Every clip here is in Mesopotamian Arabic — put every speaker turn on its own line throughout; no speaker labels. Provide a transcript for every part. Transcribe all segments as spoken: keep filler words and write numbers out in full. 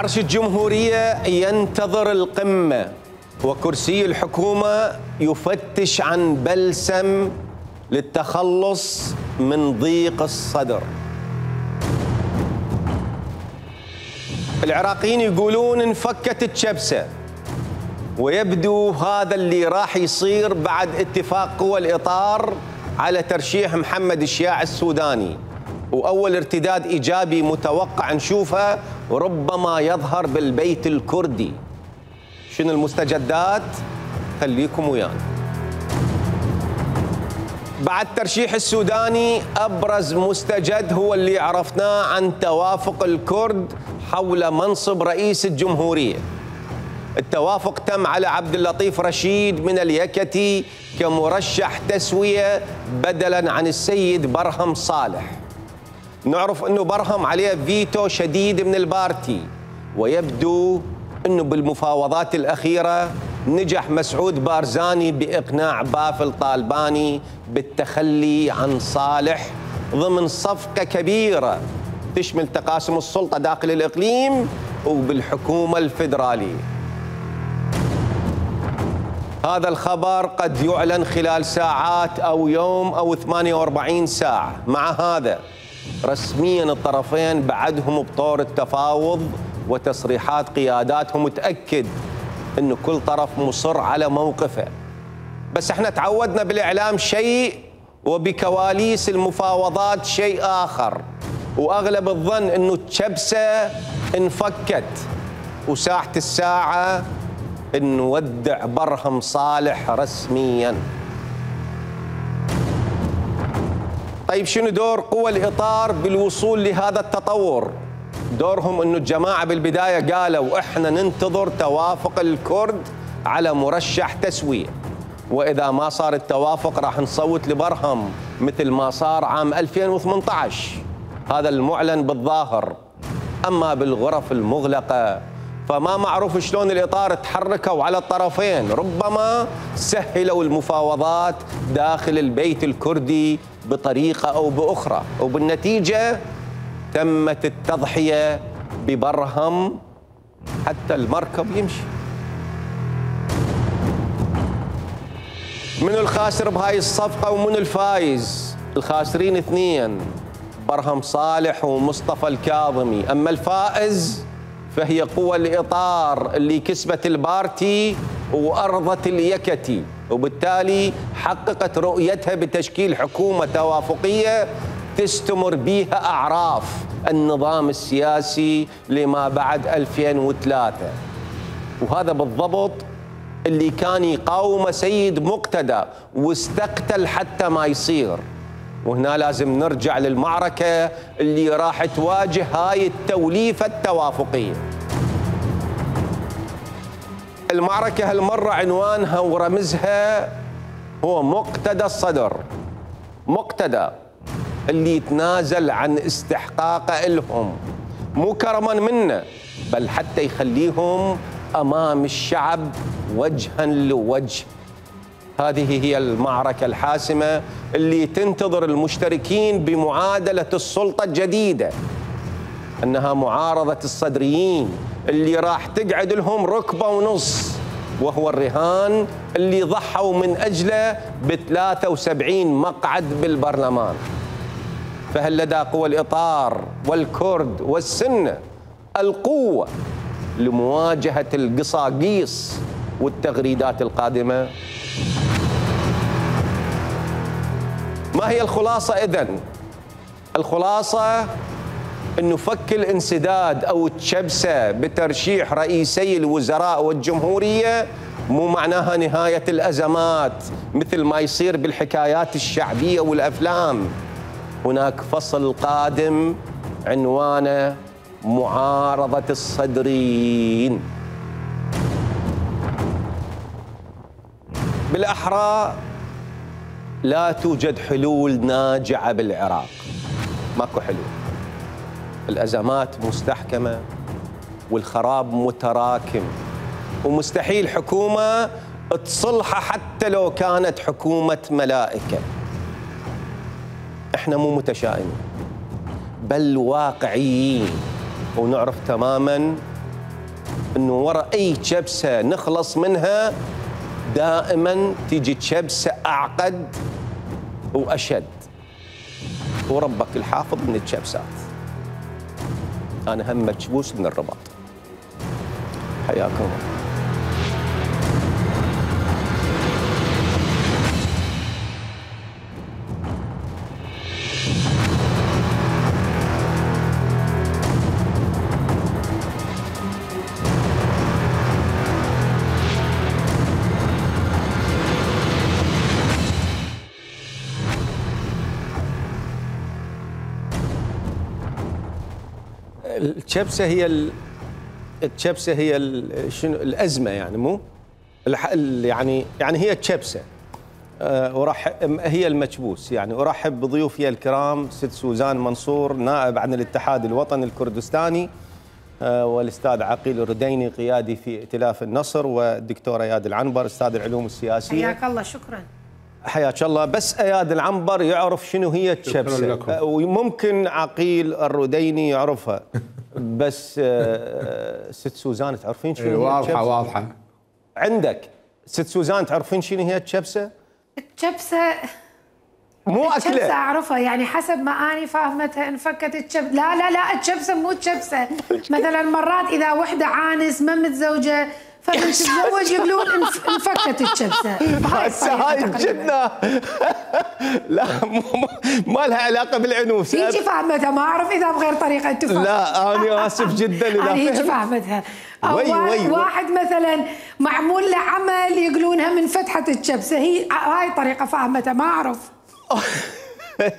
عرش الجمهورية ينتظر القمة، وكرسي الحكومة يفتش عن بلسم للتخلص من ضيق الصدر. العراقيين يقولون انفكت الشبسة، ويبدو هذا اللي راح يصير بعد اتفاق قوى الإطار على ترشيح محمد الشياع السوداني، وأول ارتداد إيجابي متوقع نشوفه ربما يظهر بالبيت الكردي. شنو المستجدات؟ خليكم ويانا. بعد ترشيح السوداني أبرز مستجد هو اللي عرفناه عن توافق الكرد حول منصب رئيس الجمهورية. التوافق تم على عبد اللطيف رشيد من اليكتي كمرشح تسوية بدلاً عن السيد برهم صالح. نعرف أنه برهم عليه فيتو شديد من البارتي، ويبدو أنه بالمفاوضات الأخيرة نجح مسعود بارزاني بإقناع بافل طالباني بالتخلي عن صالح ضمن صفقة كبيرة تشمل تقاسم السلطة داخل الإقليم وبالحكومة الفيدرالية. هذا الخبر قد يعلن خلال ساعات أو يوم أو ثمانية وأربعين ساعة. مع هذا رسميا الطرفين بعدهم بطور التفاوض، وتصريحات قياداتهم تأكد أنه كل طرف مصر على موقفه. بس احنا تعودنا بالإعلام شيء وبكواليس المفاوضات شيء آخر، وأغلب الظن أنه الشبسة انفكت، وساعة الساعة نودع برهم صالح رسميا. طيب شنو دور قوى الإطار بالوصول لهذا التطور؟ دورهم أنه الجماعة بالبداية قالوا إحنا ننتظر توافق الكرد على مرشح تسوية، وإذا ما صار التوافق راح نصوت لبرهم مثل ما صار عام ألفين وثمانية عشر. هذا المعلن بالظاهر. أما بالغرف المغلقة فما معروف شلون الإطار تحركوا على الطرفين، ربما سهلوا المفاوضات داخل البيت الكردي بطريقة أو بأخرى، وبالنتيجة تمت التضحية ببرهم حتى المركب يمشي. من الخاسر بهاي الصفقة ومن الفايز؟ الخاسرين اثنين، برهم صالح ومصطفى الكاظمي. أما الفائز فهي قوى الإطار اللي كسبت البارتي وأرضت اليكتي، وبالتالي حققت رؤيتها بتشكيل حكومة توافقية تستمر بها أعراف النظام السياسي لما بعد ألفين وثلاثة. وهذا بالضبط اللي كان يقاوم سيد مقتدى واستقتل حتى ما يصير. وهنا لازم نرجع للمعركة اللي راح تواجه هاي التوليفة التوافقية. المعركة هالمرة عنوانها ورمزها هو مقتدى الصدر. مقتدى اللي يتنازل عن استحقاقه لهم، مو كرما منه بل حتى يخليهم أمام الشعب وجها لوجه. هذه هي المعركة الحاسمة اللي تنتظر المشتركين بمعادلة السلطة الجديدة، أنها معارضة الصدريين اللي راح تقعد لهم ركبة ونص، وهو الرهان اللي ضحوا من أجله ب ثلاثة وسبعين مقعد بالبرلمان. فهل لدى قوى الإطار والكرد والسنة القوة لمواجهة القصاقيص والتغريدات القادمة؟ ما هي الخلاصة إذن؟ الخلاصة أنه فك الانسداد أو التشبسة بترشيح رئيسي الوزراء والجمهورية مو معناها نهاية الأزمات مثل ما يصير بالحكايات الشعبية والأفلام. هناك فصل قادم عنوانه معارضة الصدريين. بالأحرى لا توجد حلول ناجعة بالعراق، ماكو حلول. الأزمات مستحكمة والخراب متراكم، ومستحيل حكومة تصلحها حتى لو كانت حكومة ملائكة. احنا مو متشائمين بل واقعيين، ونعرف تماما انه ورا اي كبسه نخلص منها دائما تيجي كبسه اعقد واشد، وربك الحافظ من الكبسات. انا هم مكبوس من الرباط. حياكم الله. الكبسه هي ال... الكبسه هي ال... شنو الازمه يعني مو الح... يعني يعني هي الكبسه. أه وراح هي المكبوس يعني. ارحب بضيوفي الكرام ست سوزان منصور نائب عن الاتحاد الوطني الكردستاني، أه والاستاذ عقيل الرديني قيادي في ائتلاف النصر، والدكتور اياد العنبر استاذ العلوم السياسيه.
حياك الله. شكرا.
حياك الله. بس اياد العنبر يعرف شنو هي الكبسه، وممكن عقيل الرديني يعرفها، بس ست سوزان تعرفين شنو هي الكبسه؟
واضحه واضحه
عندك. ست سوزان تعرفين شنو هي الكبسه؟
الكبسه
مو اكله.
الكبسه اعرفها يعني حسب ما اني فاهمتها انفكت الكبسه. لا لا لا الكبسه مو الكبسه. مثلا مرات اذا وحده عانس ما متزوجه فبنتزوج يقولون انفكت الكبسه.
هسه هاي جدنا. لا ما لها علاقه بالعنوس.
هيجي فاهمتها، ما اعرف اذا بغير طريقه انت فاهمتها.
لا انا اسف جدا اذا
انا هيجي فاهمتها. او وي وي واحد مثلا معمول له عمل يقولونها من فتحه الكبسه، هي هاي طريقه فاهمتها ما اعرف.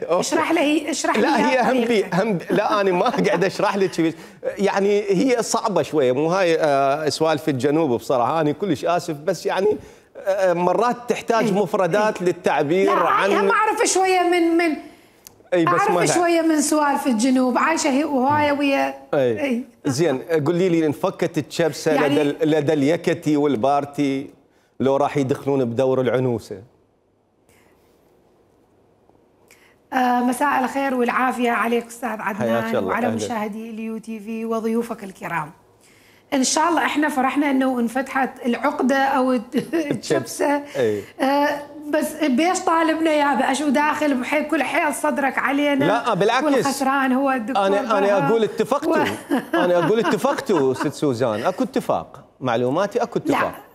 اشرح لي اشرح لي.
لا هي هم بي هم لا انا ما قاعد اشرح لك يعني، هي صعبه شويه مو هاي آه سوالف الجنوب بصراحه. انا كلش اسف بس يعني آه مرات تحتاج
ايه
مفردات
ايه
للتعبير
لا
عن.
لا ما اعرف شويه من من
اي بس
اعرف شويه من سوالف الجنوب، عايشه هي وهاي ويا.
اي, اي. زين قولي لي انفكت الكبسه يعني لدى لدى اليكتي والبارتي لو راح يدخلون بدور العنوسه.
آه مساء الخير والعافية عليك أستاذ عدنان وعلى مشاهدي اليو تي في وضيوفك الكرام. إن شاء الله إحنا فرحنا إنه انفتحت العقدة أو الكبسة. آه بس بيش طالبنا يا شو داخل بحيل كل حيل صدرك علينا؟
لا بالعكس
والخسران هو الدكتور.
أنا أنا أقول اتفقتوا و... أنا أقول اتفقتوا ست سوزان، أكو اتفاق معلوماتي أكو اتفاق.
لا.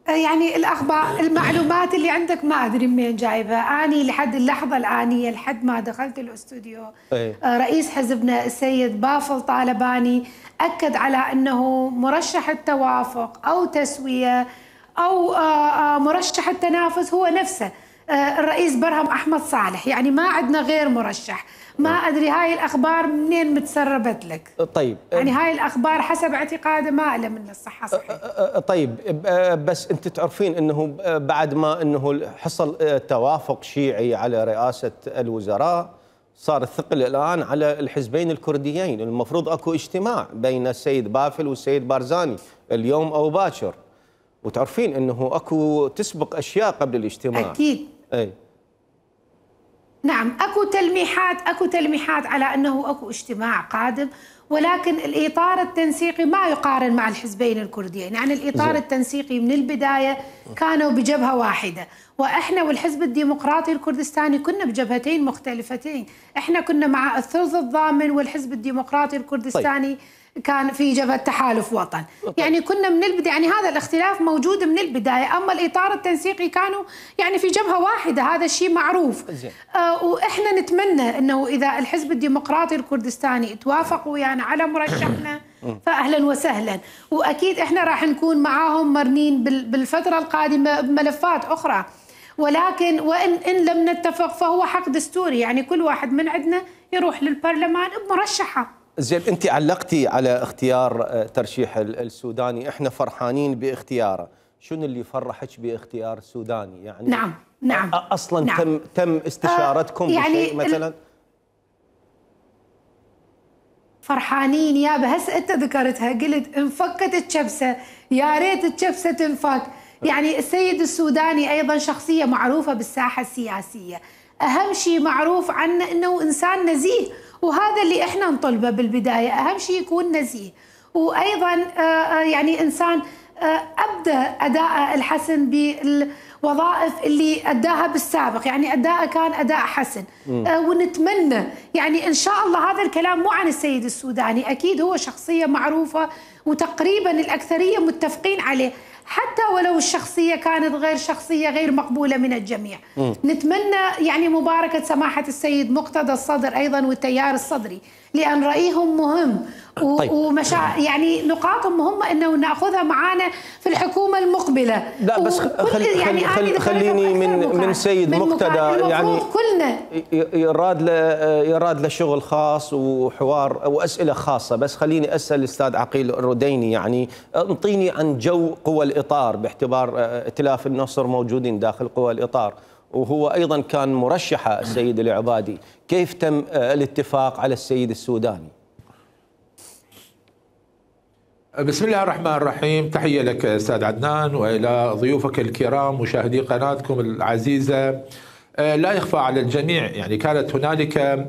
يعني الاخبار المعلومات اللي عندك ما ادري منين جايبها. اني لحد اللحظه الانيه لحد ما دخلت الاستوديو
أيه.
رئيس حزبنا السيد بافل طالباني اكد على انه مرشح التوافق او تسويه او مرشح التنافس هو نفسه الرئيس برهم احمد صالح، يعني ما عندنا غير مرشح. ما ادري هاي الاخبار منين متسربت لك.
طيب
يعني هاي الاخبار حسب اعتقاده ما له من الصحه صحيح.
طيب بس انت تعرفين انه بعد ما انه حصل توافق شيعي على رئاسه الوزراء صار الثقل الان على الحزبين الكرديين. المفروض اكو اجتماع بين السيد بافل والسيد بارزاني اليوم او باكر، وتعرفين انه اكو تسبق اشياء قبل الاجتماع.
اكيد.
اي
نعم اكو تلميحات اكو تلميحات على انه اكو اجتماع قادم، ولكن الاطار التنسيقي ما يقارن مع الحزبين الكرديين. يعني الاطار زي. التنسيقي من البدايه كانوا بجبهه واحده، واحنا والحزب الديمقراطي الكردستاني كنا بجبهتين مختلفتين. احنا كنا مع الثلث الضامن والحزب الديمقراطي الكردستاني طيب. كان في جبهة تحالف وطن. يعني كنا من البداية، يعني هذا الاختلاف موجود من البداية. أما الإطار التنسيقي كانوا يعني في جبهة واحدة، هذا الشيء معروف. آه وإحنا نتمنى أنه إذا الحزب الديمقراطي الكردستاني توافقوا ويانا يعني على مرشحنا فأهلا وسهلا، وأكيد إحنا راح نكون معاهم مرنين بالفترة القادمة بملفات أخرى. ولكن وإن إن لم نتفق فهو حق دستوري، يعني كل واحد من عندنا يروح للبرلمان بمرشحه.
زين انت علقتي على اختيار ترشيح السوداني، احنا فرحانين باختياره. شنو اللي فرحك باختيار السوداني يعني؟
نعم نعم
اصلا
نعم.
تم تم استشارتكم آه يعني بشيء مثلا؟
فرحانين يابا. هسه انت ذكرتها قلت انفكت الكبسه، يا ريت الكبسه تنفك. يعني السيد السوداني ايضا شخصيه معروفه بالساحه السياسيه، اهم شيء معروف عنه انه انسان نزيه، وهذا اللي احنا نطلبه بالبدايه، اهم شيء يكون نزيه. وايضا يعني انسان ابدى اداءه الحسن بالوظائف اللي اداها بالسابق، يعني اداءه كان اداء حسن. ونتمنى يعني ان شاء الله، هذا الكلام مو عن السيد السوداني، اكيد هو شخصيه معروفه وتقريبا الاكثريه متفقين عليه، حتى ولو الشخصية كانت غير شخصية غير مقبولة من الجميع. م. نتمنى يعني مباركة سماحة السيد مقتدى الصدر أيضا والتيار الصدري، لأن رأيهم مهم. طيب. ومشا يعني نقاطهم مهمة انه ناخذها معانا في الحكومة المقبلة.
لا بس خل يعني خل خليني من من سيد من مقتدى، يعني كلنا يراد له يراد له شغل خاص وحوار واسئله خاصة، بس خليني اسال الاستاذ عقيل الرديني، يعني انطيني عن جو قوى الاطار، باعتبار ائتلاف النصر موجودين داخل قوى الاطار، وهو ايضا كان مرشحه السيد العبادي، كيف تم الاتفاق على السيد السوداني؟
بسم الله الرحمن الرحيم، تحية لك أستاذ عدنان وإلى ضيوفك الكرام مشاهدي قناتكم العزيزة. لا يخفى على الجميع يعني كانت هنالك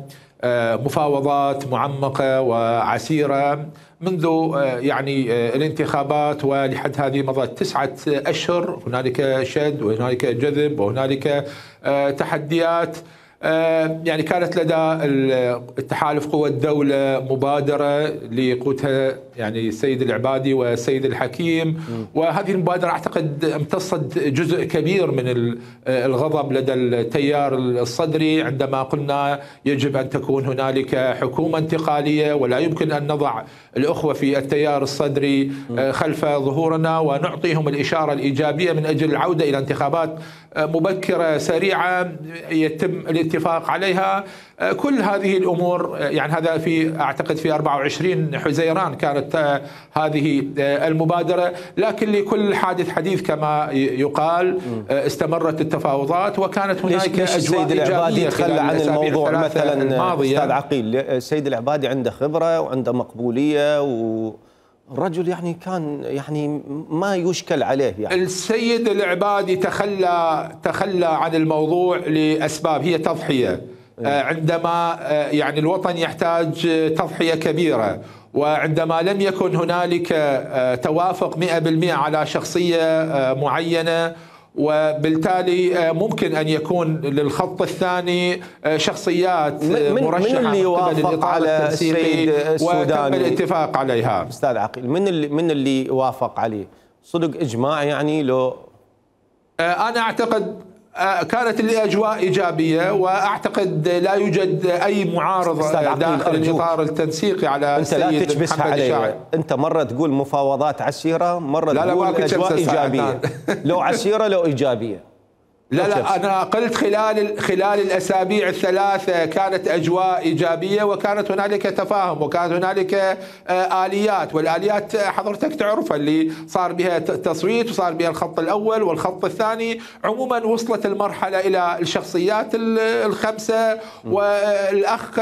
مفاوضات معمقة وعسيرة منذ يعني الانتخابات، ولحد هذه مضت تسعة أشهر. هنالك شد وهنالك جذب وهنالك تحديات. يعني كانت لدى التحالف قوى الدولة مبادرة لقودها يعني السيد العبادي والسيد الحكيم، وهذه المبادرة أعتقد امتصت جزء كبير من الغضب لدى التيار الصدري، عندما قلنا يجب أن تكون هنالك حكومة انتقالية ولا يمكن أن نضع الأخوة في التيار الصدري خلف ظهورنا، ونعطيهم الإشارة الإيجابية من أجل العودة إلى انتخابات مبكرة سريعة يتم الاتفاق عليها. كل هذه الأمور يعني هذا في أعتقد في أربعة وعشرين حزيران كانت هذه المبادرة، لكن لكل حادث حديث كما يقال. استمرت التفاوضات وكانت هناك
السيد العبادي يتخلى عن الموضوع مثلا؟ أستاذ عقيل، السيد العبادي عنده خبرة وعنده مقبولية و الرجل يعني كان يعني ما يشكل عليه. يعني
السيد العبادي تخلى تخلى عن الموضوع لأسباب هي تضحية. عندما يعني الوطن يحتاج تضحية كبيرة، وعندما لم يكن هنالك توافق مئة بالمئة على شخصية معينة، وبالتالي ممكن أن يكون للخط الثاني شخصيات مرشحة
من اللي وافق على السيد السوداني
وتم الاتفاق عليها؟
أستاذ عقيل، من اللي من اللي وافق عليه؟ صدق إجماع يعني لو؟
أنا أعتقد كانت الأجواء إيجابية، وأعتقد لا يوجد أي معارضة داخل الإطار التنسيقي على
السيد محمد الشاعر. أنت لا تكبسها علي، أنت مرة تقول مفاوضات عسيرة، مرة
لا
تقول
لا
أجواء إيجابية. لو عسيرة لو إيجابية.
لا لا أنا قلت خلال خلال الأسابيع الثلاثة كانت أجواء إيجابية، وكانت هنالك تفاهم، وكانت هنالك آليات، والآليات حضرتك تعرفها اللي صار بها تصويت وصار بها الخط الأول والخط الثاني. عموما وصلت المرحلة إلى الشخصيات الخمسة، والأخ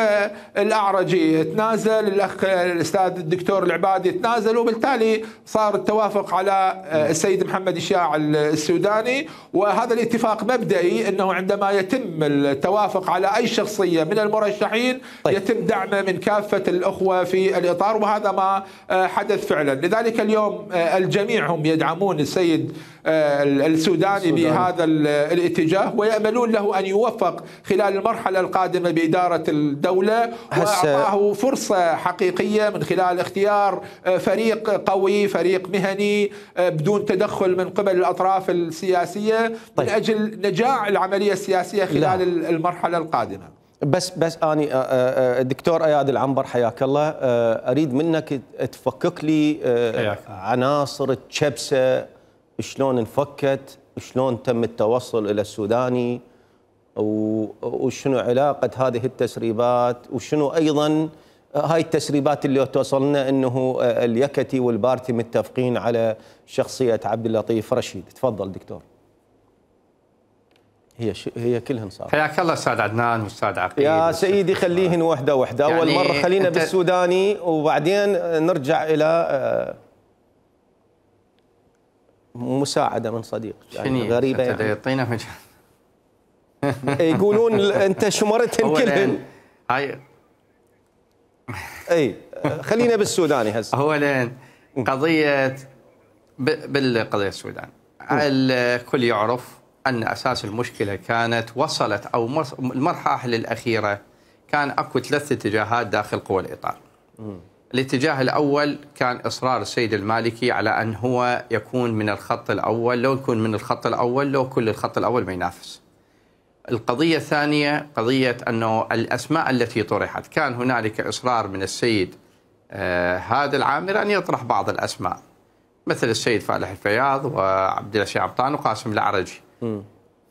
الأعرجي تنازل، الأخ الأستاذ الدكتور العبادي تنازل، وبالتالي صار التوافق على السيد محمد الشاعر السوداني. وهذا الاتفاق مبدئي انه عندما يتم التوافق على اي شخصيه من المرشحين طيب. يتم دعمه من كافه الاخوه في الاطار، وهذا ما حدث فعلا. لذلك اليوم الجميع هم يدعمون السيد السوداني, السوداني بهذا الاتجاه، ويأملون له ان يوفق خلال المرحله القادمه باداره الدوله، واعطاه فرصه حقيقيه من خلال اختيار فريق قوي، فريق مهني بدون تدخل من قبل الاطراف السياسيه طيب. من اجل نجاح العملية السياسية خلال لا. المرحلة القادمة.
بس بس أني الدكتور أياد العنبر حياك الله، أريد منك تفكك لي عناصر التشبسة، شلون انفكت، شلون تم التوصل إلى السوداني، وشنو علاقة هذه التسريبات، وشنو أيضا هاي التسريبات اللي توصلنا أنه اليكتي والبارتي متفقين على شخصية عبد اللطيف رشيد. تفضل دكتور. هي ش... هي كلهن صار.
حياك الله استاذ عدنان واستاذ عقيل.
يا سيدي خليهن وحده وحده، يعني اول مره خلينا انت... بالسوداني وبعدين نرجع الى مساعده من صديق يعني غريبه يعني.
يعطينا مجال
يقولون انت شمرتهن كلهن.
هاي
اي خلينا بالسوداني هسه.
اولا قضيه بالقضيه السودان الكل يعرف ان اساس المشكله كانت وصلت او المراحل الاخيره كان اكو ثلاث اتجاهات داخل قوى الاطار. الاتجاه الاول كان اصرار السيد المالكي على ان هو يكون من الخط الاول، لو يكون من الخط الاول لو كل الخط الاول ما ينافس. القضيه الثانيه قضيه انه الاسماء التي طرحت كان هنالك اصرار من السيد آه هذا العامر ان يطرح بعض الاسماء مثل السيد فالح الفياض وعبد الله عبطان وقاسم العرجي. م.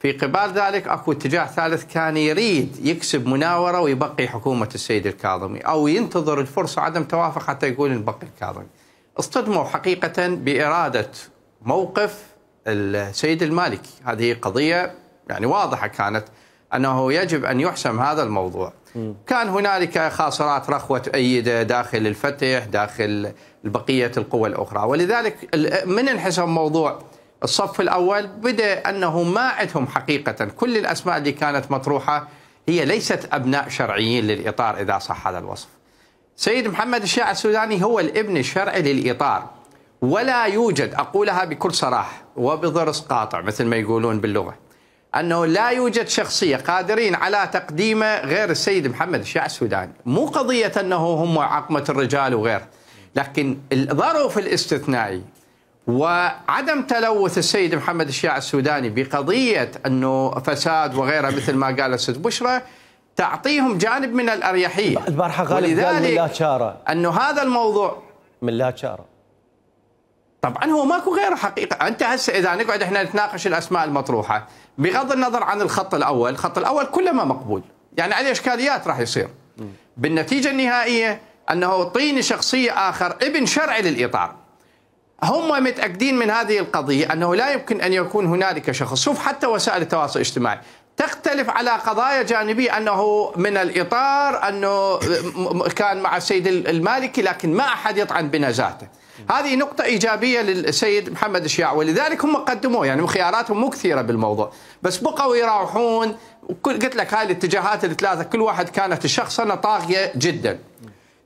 في قبال ذلك اكو اتجاه ثالث كان يريد يكسب مناوره ويبقي حكومه السيد الكاظمي او ينتظر الفرصه عدم توافق حتى يقول نبقي الكاظمي. اصطدموا حقيقه باراده موقف السيد المالكي، هذه قضيه يعني واضحه كانت انه يجب ان يحسم هذا الموضوع. م. كان هنالك خاصرات رخوه تؤيده داخل الفتح داخل بقيه القوى الاخرى، ولذلك من انحسم موضوع الصف الأول بدأ أنه ما عندهم حقيقة كل الأسماء اللي كانت مطروحة هي ليست أبناء شرعيين للإطار إذا صح هذا الوصف. سيد محمد الشيع السوداني هو الابن الشرعي للإطار، ولا يوجد، أقولها بكل صراحة وبضرس قاطع مثل ما يقولون باللغة، أنه لا يوجد شخصية قادرين على تقديمه غير السيد محمد الشيع السوداني. مو قضية أنه هم عقمة الرجال وغيره، لكن الظرف الاستثنائي وعدم تلوث السيد محمد الشيع السوداني بقضية أنه فساد وغيرها مثل ما قال الست بشرى تعطيهم جانب من الأريحية.
البارحة غالب قال من لا تشارة
أنه هذا الموضوع
من لا تشارة.
طبعا هو ماكو غيره حقيقة. أنت هسه إذا نقعد إحنا نتناقش الأسماء المطروحة بغض النظر عن الخط الأول، الخط الأول كله ما مقبول، يعني عليه إشكاليات راح يصير. بالنتيجة النهائية أنه طيني شخصية آخر ابن شرعي للإطار. هم متأكدين من هذه القضية أنه لا يمكن أن يكون هنالك شخص، شوف حتى وسائل التواصل الاجتماعي تختلف على قضايا جانبية، أنه من الإطار أنه كان مع السيد المالكي لكن ما أحد يطعن بنزاهته. هذه نقطة إيجابية للسيد محمد الشيع، ولذلك هم قدموه، يعني خياراتهم مو كثيرة بالموضوع، بس بقوا يراوحون. قلت لك هاي الاتجاهات الثلاثة كل واحد كانت الشخصنة طاغية جدا.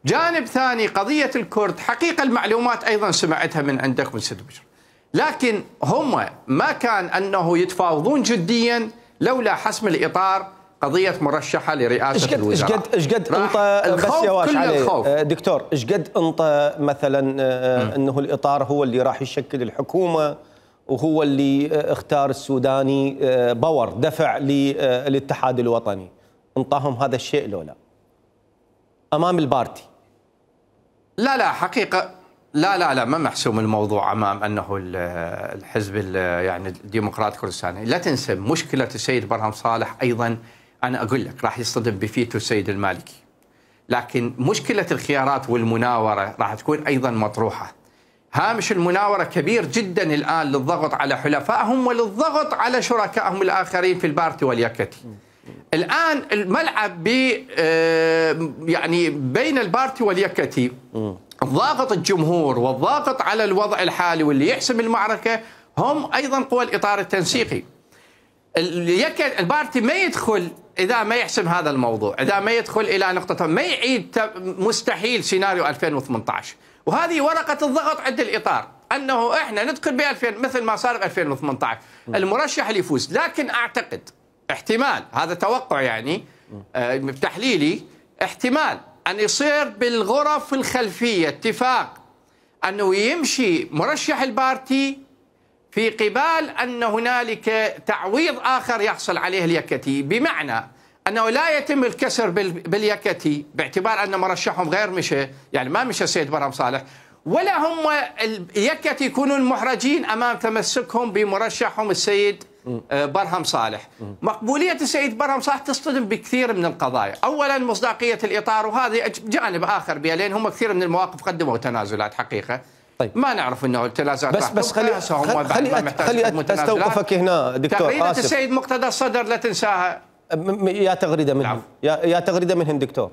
جانب ثاني قضية الكرد، حقيقة المعلومات أيضا سمعتها من عندك من سيد بشر، لكن هم ما كان أنه يتفاوضون جديا لولا حسم الإطار قضية مرشحة لرئاسة الوزراء.
ايش قد ايش قد انطى بس يواش عليه دكتور، ايش قد انطى مثلا انه الإطار هو اللي راح يشكل الحكومة وهو اللي اختار السوداني باور دفع للاتحاد الوطني، انطاهم هذا الشيء لو لا امام البارتي؟
لا لا حقيقة لا لا لا ما محسوم الموضوع امام انه الحزب يعني الديمقراطي الكردستاني. لا تنسى مشكلة السيد برهم صالح ايضا، انا اقول لك راح يصطدم بفيتو السيد المالكي، لكن مشكلة الخيارات والمناورة راح تكون ايضا مطروحة. هامش المناورة كبير جدا الان للضغط على حلفائهم وللضغط على شركائهم الاخرين في البارتي واليكتي. الآن الملعب ب يعني بين البارتي واليكتي، الضاغط الجمهور والضاغط على الوضع الحالي واللي يحسم المعركة هم أيضا قوى الإطار التنسيقي. البارتي ما يدخل إذا ما يحسم هذا الموضوع، إذا ما يدخل إلى نقطة ما يعيد مستحيل سيناريو ألفين وثمانية عشر، وهذه ورقة الضغط عند الإطار أنه إحنا ندخل ب ألفين مثل ما صار ب ألفين وثمانية عشر المرشح اللي يفوز. لكن أعتقد احتمال، هذا توقع يعني آه تحليلي، احتمال أن يصير بالغرف الخلفية اتفاق أنه يمشي مرشح البارتي في قبال أن هنالك تعويض آخر يحصل عليه اليكتي، بمعنى أنه لا يتم الكسر باليكتي باعتبار أن مرشحهم غير مشى، يعني ما مشى السيد برهم صالح، ولا هم اليكتي يكونون محرجين أمام تمسكهم بمرشحهم السيد برهم صالح. مقبولية السيد برهم صالح تصطدم بكثير من القضايا. أولا مصداقية الإطار، وهذا جانب آخر بها، لأن هم كثير من المواقف قدموا تنازلات حقيقة. طيب. ما نعرف انه التنازلات
بس بس خلي خلي خلي استوقفك هنا دكتور.
تغريدة آسف. السيد مقتدى الصدر لا تنساها.
يا تغريدة منهم، يا يا تغريدة منهم دكتور.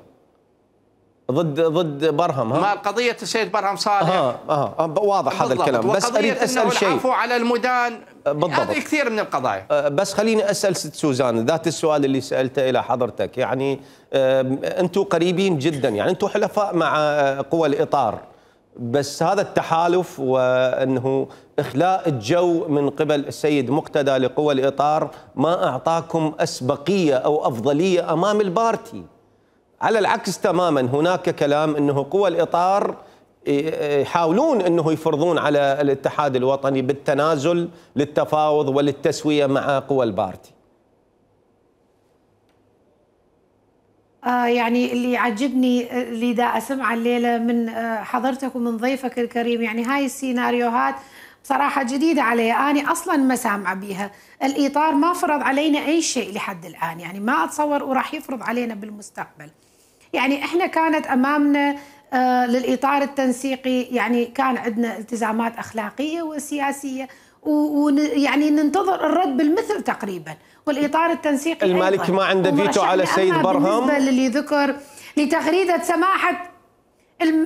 ضد ضد برهم ها؟
مال قضيه السيد برهم صالح.
اه اه واضح هذا الكلام، بس اريد اسال شيء.
العفو على المدان بالضبط، هذه كثير من القضايا.
بس خليني اسال ست سوزان ذات السؤال اللي سالته الى حضرتك، يعني انتم قريبين جدا، يعني انتم حلفاء مع قوى الاطار، بس هذا التحالف وانه اخلاء الجو من قبل السيد مقتدى لقوى الاطار ما اعطاكم اسبقيه او افضليه امام البارتي. على العكس تماما، هناك كلام انه قوى الاطار يحاولون انه يفرضون على الاتحاد الوطني بالتنازل للتفاوض وللتسويه مع قوى البارتي.
آه يعني اللي يعجبني اللي دا اسمع الليله من آه حضرتك ومن ضيفك الكريم، يعني هاي السيناريوهات بصراحه جديده علي، انا اصلا ما سامعه بيها. الاطار ما فرض علينا اي شيء لحد الان، يعني ما اتصور وراح يفرض علينا بالمستقبل. يعني احنا كانت امامنا آه للاطار التنسيقي، يعني كان عندنا التزامات اخلاقيه وسياسيه، ويعني ننتظر الرد بالمثل تقريبا. والاطار التنسيقي
المالكي ما عنده فيتو على السيد برهم.
بالنسبه للي ذكر لتغريده سماحه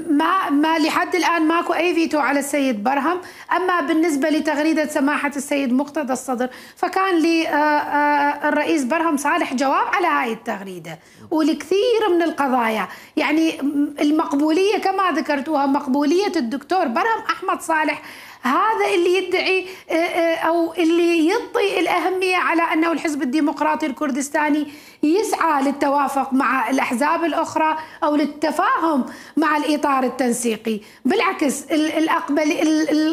ما ما لحد الان ماكو اي فيتو على السيد برهم، اما بالنسبه لتغريده سماحه السيد مقتدى الصدر فكان للرئيس برهم صالح جواب على هاي التغريده ولكثير من القضايا. يعني المقبوليه كما ذكرتوها، مقبوليه الدكتور برهم احمد صالح، هذا اللي يدعي أو اللي يعطي الأهمية على أنه الحزب الديمقراطي الكردستاني يسعى للتوافق مع الأحزاب الأخرى أو للتفاهم مع الإطار التنسيقي. بالعكس الأقبل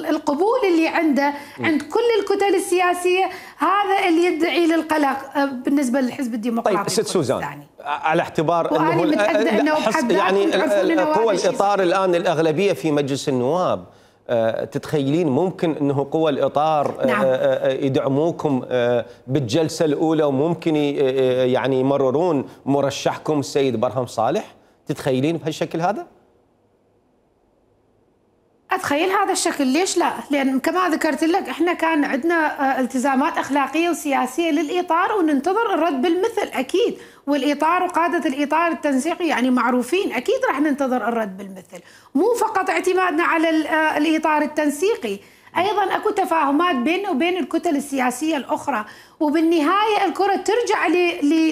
القبول اللي عنده عند كل الكتل السياسية هذا اللي يدعي للقلق بالنسبة للحزب الديمقراطي.
طيب ست سوزان، على اعتبار
أنه,
أنه يعني قوى الإطار الآن الأغلبية في مجلس النواب، تتخيلين ممكن انه قوى الاطار نعم. يدعموكم بالجلسه الاولى وممكن يعني يمررون مرشحكم السيد برهم صالح؟ تتخيلين بهالشكل هذا؟
اتخيل هذا الشكل، ليش لا؟ لان كما ذكرت لك احنا كان عندنا التزامات اخلاقيه وسياسيه للاطار وننتظر الرد بالمثل اكيد، والاطار وقاده الاطار التنسيقي يعني معروفين، اكيد راح ننتظر الرد بالمثل، مو فقط اعتمادنا على الاطار التنسيقي، ايضا اكو تفاهمات بيننا وبين الكتل السياسيه الاخرى، وبالنهايه الكره ترجع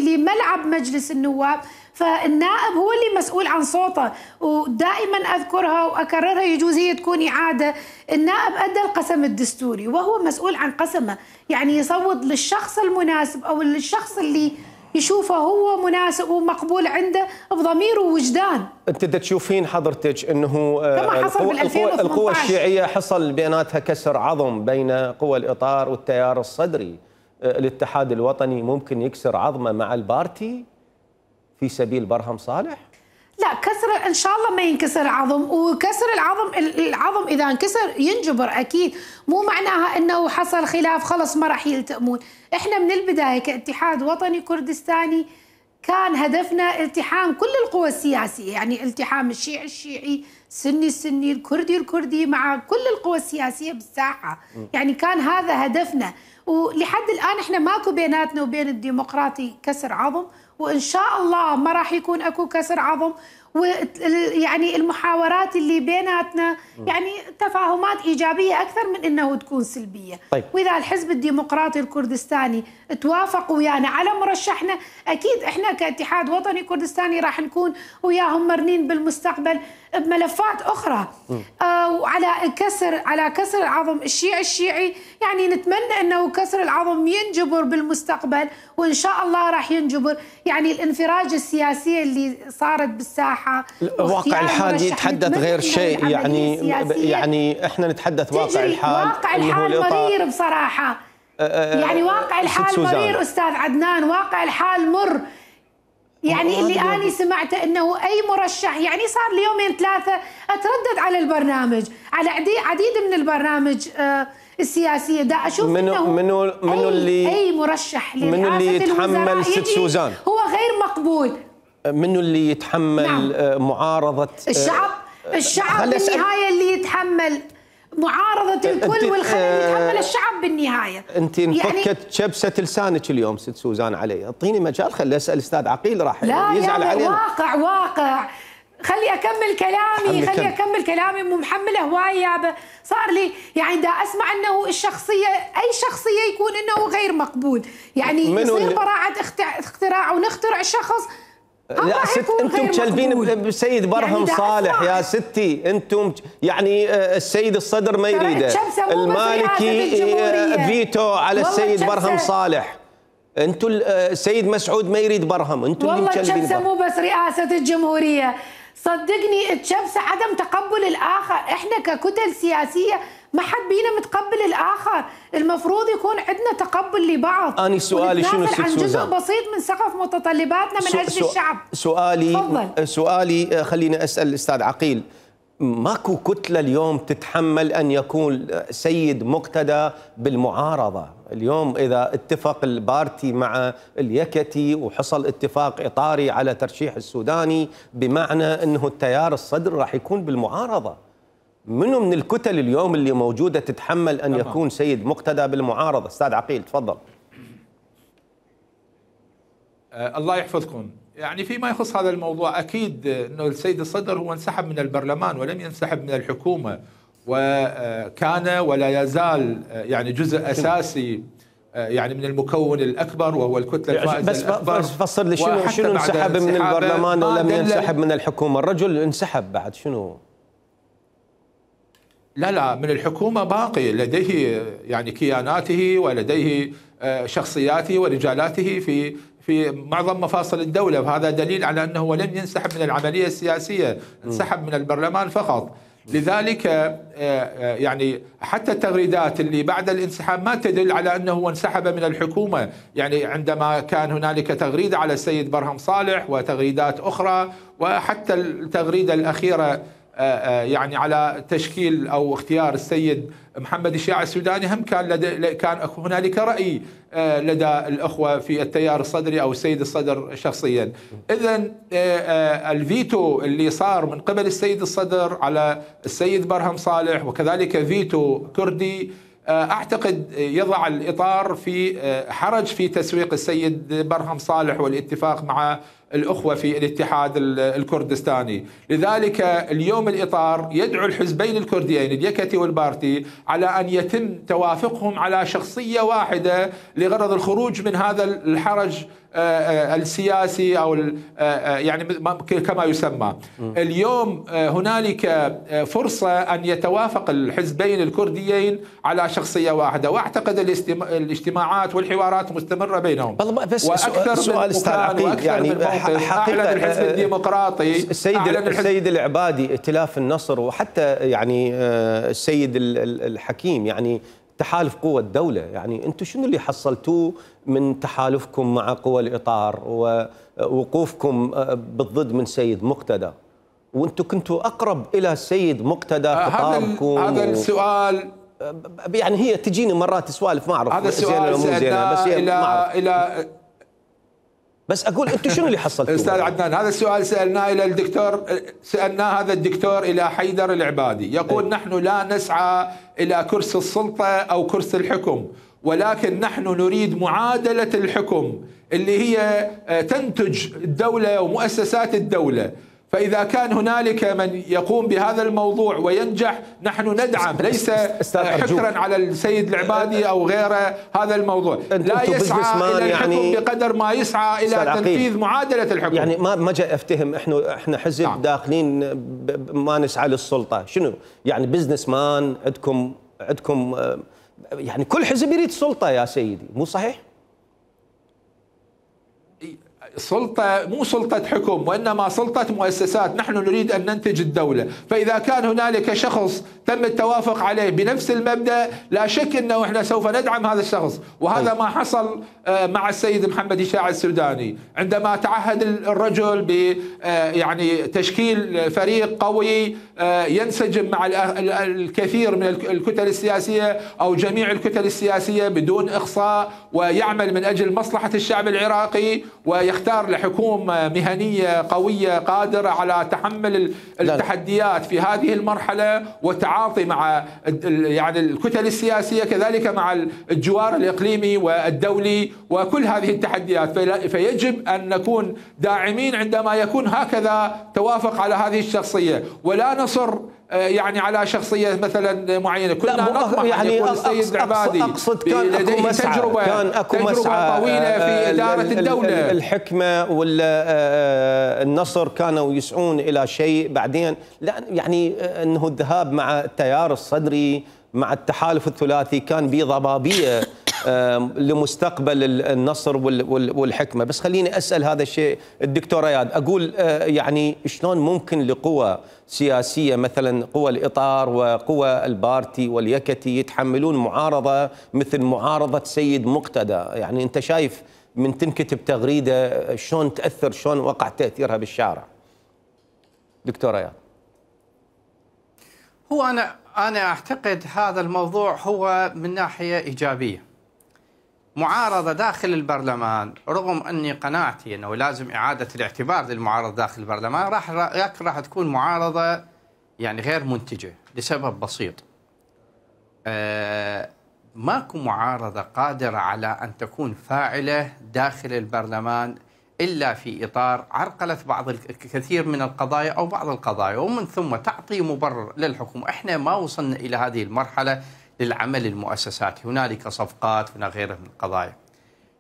لملعب مجلس النواب، فالنائب هو اللي مسؤول عن صوته، ودائما اذكرها واكررها يجوز هي تكون اعاده، النائب ادى القسم الدستوري وهو مسؤول عن قسمه، يعني يصوت للشخص المناسب او للشخص اللي يشوفه هو مناسب ومقبول عنده بضمير ووجدان.
انت تشوفين حضرتك انه القوى, القوى الشيعيه حصل بيناتها كسر عظم بين قوى الاطار والتيار الصدري، الاتحاد الوطني ممكن يكسر عظمه مع البارتي في سبيل برهم صالح؟
لا، كسر ان شاء الله ما ينكسر عظم، وكسر العظم العظم اذا انكسر ينجبر اكيد، مو معناها انه حصل خلاف خلص ما راح يلتئمون، احنا من البدايه كاتحاد وطني كردستاني كان هدفنا التحام كل القوى السياسيه، يعني التحام الشيعي الشيعي، السني السني، الكردي الكردي، مع كل القوى السياسيه بالساحه، يعني كان هذا هدفنا، ولحد الان احنا ماكو بيناتنا وبين الديمقراطي كسر عظم، وإن شاء الله ما راح يكون أكو كسر عظم، ويعني المحاورات اللي بيناتنا يعني تفاهمات إيجابية أكثر من أنه تكون سلبية.
طيب.
وإذا الحزب الديمقراطي الكردستاني توافق ويانا على مرشحنا، أكيد إحنا كاتحاد وطني كردستاني راح نكون وياهم مرنين بالمستقبل بملفات أخرى. آه وعلى كسر على كسر العظم الشيعي الشيعي، يعني نتمنى أنه كسر العظم ينجبر بالمستقبل، وإن شاء الله راح ينجبر. يعني الانفراج السياسية اللي صارت بالساحة،
واقع الحال يتحدث غير شيء، يعني يعني احنا نتحدث واقع الحال.
واقع الحال مرير بصراحة، يعني واقع الحال مرير أستاذ عدنان، واقع الحال مر. يعني اللي أنا سمعته أنه أي مرشح، يعني صار لي يومين ثلاثة أتردد على البرنامج، على عديد من البرنامج السياسية، دا أشوف
منو
أنه
منو منو اللي
أي مرشح
منو اللي يتحمل ست سوزان،
هو غير مقبول.
منو اللي يتحمل نعم. معارضة
الشعب؟ الشعب بالنهاية اللي يتحمل معارضة الكل والخلل يتحمل الشعب بالنهاية.
انت انفكت يعني شبسة لسانك اليوم ست سوزان علي، اعطيني مجال خلي اسال استاذ عقيل راح
لا
يزعل
يعني
علينا.
واقع واقع خلي اكمل كلامي
حمل
خلي
كم.
اكمل كلامي مو محمله هواي يابا. صار لي يعني دا اسمع انه الشخصيه اي شخصيه يكون انه غير مقبول، يعني يصير براعه اختراع ونخترع شخص.
لا ست، انتم تشلبين بسيد برهم يعني صالح يا ستي. انتم يعني السيد الصدر ما يريده، المالكي فيتو على السيد برهم صالح، انتم السيد مسعود ما يريد برهم، انتم اللي مشلبين.
والله الشبسه مو بس رئاسه الجمهوريه، صدقني الشبسه عدم تقبل الاخر. احنا ككتل سياسيه ما حد بينا متقبل الاخر، المفروض يكون عندنا تقبل لبعض.
أنا سؤالي شنو ست
عن جزء
سوزان؟
بسيط من سقف متطلباتنا من اجل
سو
الشعب.
سؤالي
فضل.
سؤالي خليني اسال الاستاذ عقيل، ماكو كتله اليوم تتحمل ان يكون سيد مقتدى بالمعارضه؟ اليوم اذا اتفق البارتي مع اليكتي وحصل اتفاق اطاري على ترشيح السوداني، بمعنى انه التيار الصدر راح يكون بالمعارضه. منو من الكتل اليوم اللي موجوده تتحمل ان يكون سيد مقتدى بالمعارضه؟ استاذ عقيل تفضل.
آه الله يحفظكم. يعني فيما يخص هذا الموضوع اكيد انه السيد الصدر هو انسحب من البرلمان ولم ينسحب من الحكومه، وكان ولا يزال يعني جزء اساسي يعني من المكون الاكبر وهو الكتله الفائزه
بس
الاكبر.
بس فسر لي شنو شنو انسحب من البرلمان ولم ينسحب من الحكومه؟ الرجل انسحب بعد شنو؟
لا لا، من الحكومه باقي لديه يعني كياناته ولديه شخصياته ورجالاته في في معظم مفاصل الدولة، وهذا دليل على أنه لم ينسحب من العملية السياسية، انسحب من البرلمان فقط. لذلك يعني حتى التغريدات اللي بعد الانسحاب ما تدل على أنه انسحب من الحكومة. يعني عندما كان هنالك تغريدة على السيد برهم صالح وتغريدات أخرى، وحتى التغريدة الأخيرة يعني على تشكيل أو اختيار السيد محمد الشياع السوداني، هم كان لدى كان هنالك رأي لدى الأخوة في التيار الصدري أو السيد الصدر شخصيا. إذن الفيتو اللي صار من قبل السيد الصدر على السيد برهم صالح وكذلك فيتو كردي أعتقد يضع الإطار في حرج في تسويق السيد برهم صالح والاتفاق مع الأخوة في الاتحاد الكردستاني. لذلك اليوم الإطار يدعو الحزبين الكرديين اليكتي والبارتي على أن يتم توافقهم على شخصية واحدة لغرض الخروج من هذا الحرج السياسي أو يعني كما يسمى. اليوم هنالك فرصة أن يتوافق الحزبين الكرديين على شخصية واحدة، وأعتقد الاجتماعات والحوارات مستمرة بينهم.
بس وأكثر سؤال استاذ عقيل، يعني حقيقة
الحزب الديمقراطي
السيد السيد العبادي ائتلاف النصر وحتى يعني السيد الحكيم يعني تحالف قوى الدولة، يعني أنتم شنو اللي حصلتوه من تحالفكم مع قوى الإطار ووقوفكم بالضد من سيد مقتدى؟ وأنتم كنتوا أقرب إلى السيد مقتدى خطابكم.
هذا السؤال
يعني هي تجيني مرات سوالف ما أعرف
هذا السؤال سألناه بس إلى إلى
بس اقول انتم شنو اللي حصلتوا؟
استاذ عدنان، هذا السؤال سالناه الى الدكتور سالناه هذا الدكتور الى حيدر العبادي، يقول نحن لا نسعى الى كرسي السلطه او كرسي الحكم، ولكن نحن نريد معادله الحكم اللي هي تنتج الدوله ومؤسسات الدوله. فإذا كان هنالك من يقوم بهذا الموضوع وينجح نحن ندعم، ليس حكرا على السيد العبادي أو غيره. هذا الموضوع لا يسعى إلى الحكم يعني بقدر ما يسعى إلى تنفيذ معادلة الحكم.
يعني ما ما جاي أفتهم، إحنا إحنا حزب نعم. داخلين ما نسعى للسلطة، شنو يعني بزنس مان عندكم عندكم يعني كل حزب يريد سلطة يا سيدي، مو صحيح؟
سلطة مو سلطة حكم وإنما سلطة مؤسسات. نحن نريد أن ننتج الدولة، فإذا كان هنالك شخص تم التوافق عليه بنفس المبدأ لا شك أنه إحنا سوف ندعم هذا الشخص. وهذا ما حصل مع السيد محمد الشياع السوداني عندما تعهد الرجل ب يعني تشكيل فريق قوي ينسجم مع الكثير من الكتل السياسية أو جميع الكتل السياسية بدون إخصاء، ويعمل من أجل مصلحة الشعب العراقي، ويختار لحكومة مهنية قوية قادرة على تحمل التحديات في هذه المرحلة والتعاطي مع يعني الكتل السياسية كذلك مع الجوار الإقليمي والدولي وكل هذه التحديات. فيجب أن نكون داعمين عندما يكون هكذا توافق على هذه الشخصية، ولا نصر يعني على شخصية مثلا معينة. كنا نطمح يعني أن يكون السيد العبادي لديه تجربة
كان أكو
تجربة
مسعى
طويلة في إدارة الدولة.
الحكمة والنصر كانوا يسعون إلى شيء، بعدين لا يعني أنه الذهاب مع التيار الصدري مع التحالف الثلاثي كان بضبابية لمستقبل النصر والحكمة. بس خليني أسأل هذا الشيء الدكتور اياد، أقول يعني شلون ممكن لقوى سياسية مثلا قوى الإطار وقوى البارتي واليكتي يتحملون معارضة مثل معارضة سيد مقتدى؟ يعني أنت شايف من تنكتب تغريدة شلون تأثر، شلون وقع تأثيرها بالشارع؟ دكتور اياد.
هو أنا أنا أعتقد هذا الموضوع هو من ناحية إيجابية. معارضة داخل البرلمان، رغم أني قناعتي أنه لازم إعادة الاعتبار للمعارضة داخل البرلمان، راح راح تكون معارضة يعني غير منتجة لسبب بسيط. آه ماكو معارضة قادرة على أن تكون فاعلة داخل البرلمان إلا في إطار عرقلة بعض الكثير من القضايا أو بعض القضايا، ومن ثم تعطي مبرر للحكومة. إحنا ما وصلنا إلى هذه المرحلة للعمل المؤسساتي، هنالك صفقات هناك غيرها من القضايا،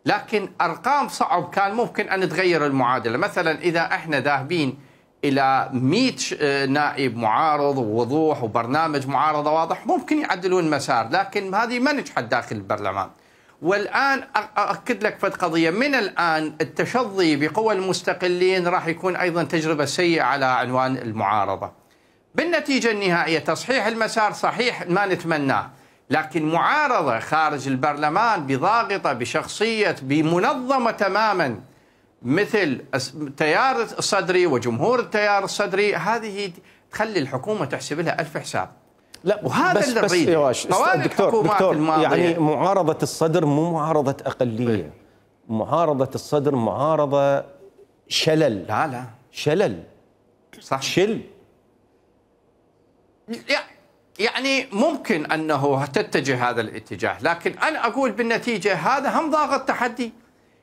لكن أرقام صعب كان ممكن أن تغير المعادلة. مثلا إذا إحنا ذاهبين إلى مئة نائب معارض ووضوح وبرنامج معارضة واضح ممكن يعدلون مسار، لكن هذه ما نجحت داخل البرلمان. والآن أؤكد لك فد قضية، من الآن التشظي بقوى المستقلين راح يكون أيضا تجربة سيئة على عنوان المعارضة. بالنتيجة النهائية تصحيح المسار صحيح ما نتمناه، لكن معارضة خارج البرلمان بضاغطة بشخصية بمنظمة تماما مثل التيار الصدري وجمهور التيار الصدري، هذه تخلي الحكومة تحسب لها ألف حساب.
لا وهذا
بس
اللي
بس
نريده. دكتور, دكتور يعني معارضة الصدر مو معارضة أقلية، معارضة الصدر معارضة شلل.
لا لا
شلل
صح،
شل.
يعني ممكن أنه تتجه هذا الاتجاه، لكن أنا أقول بالنتيجة هذا هم ضاغط تحدي.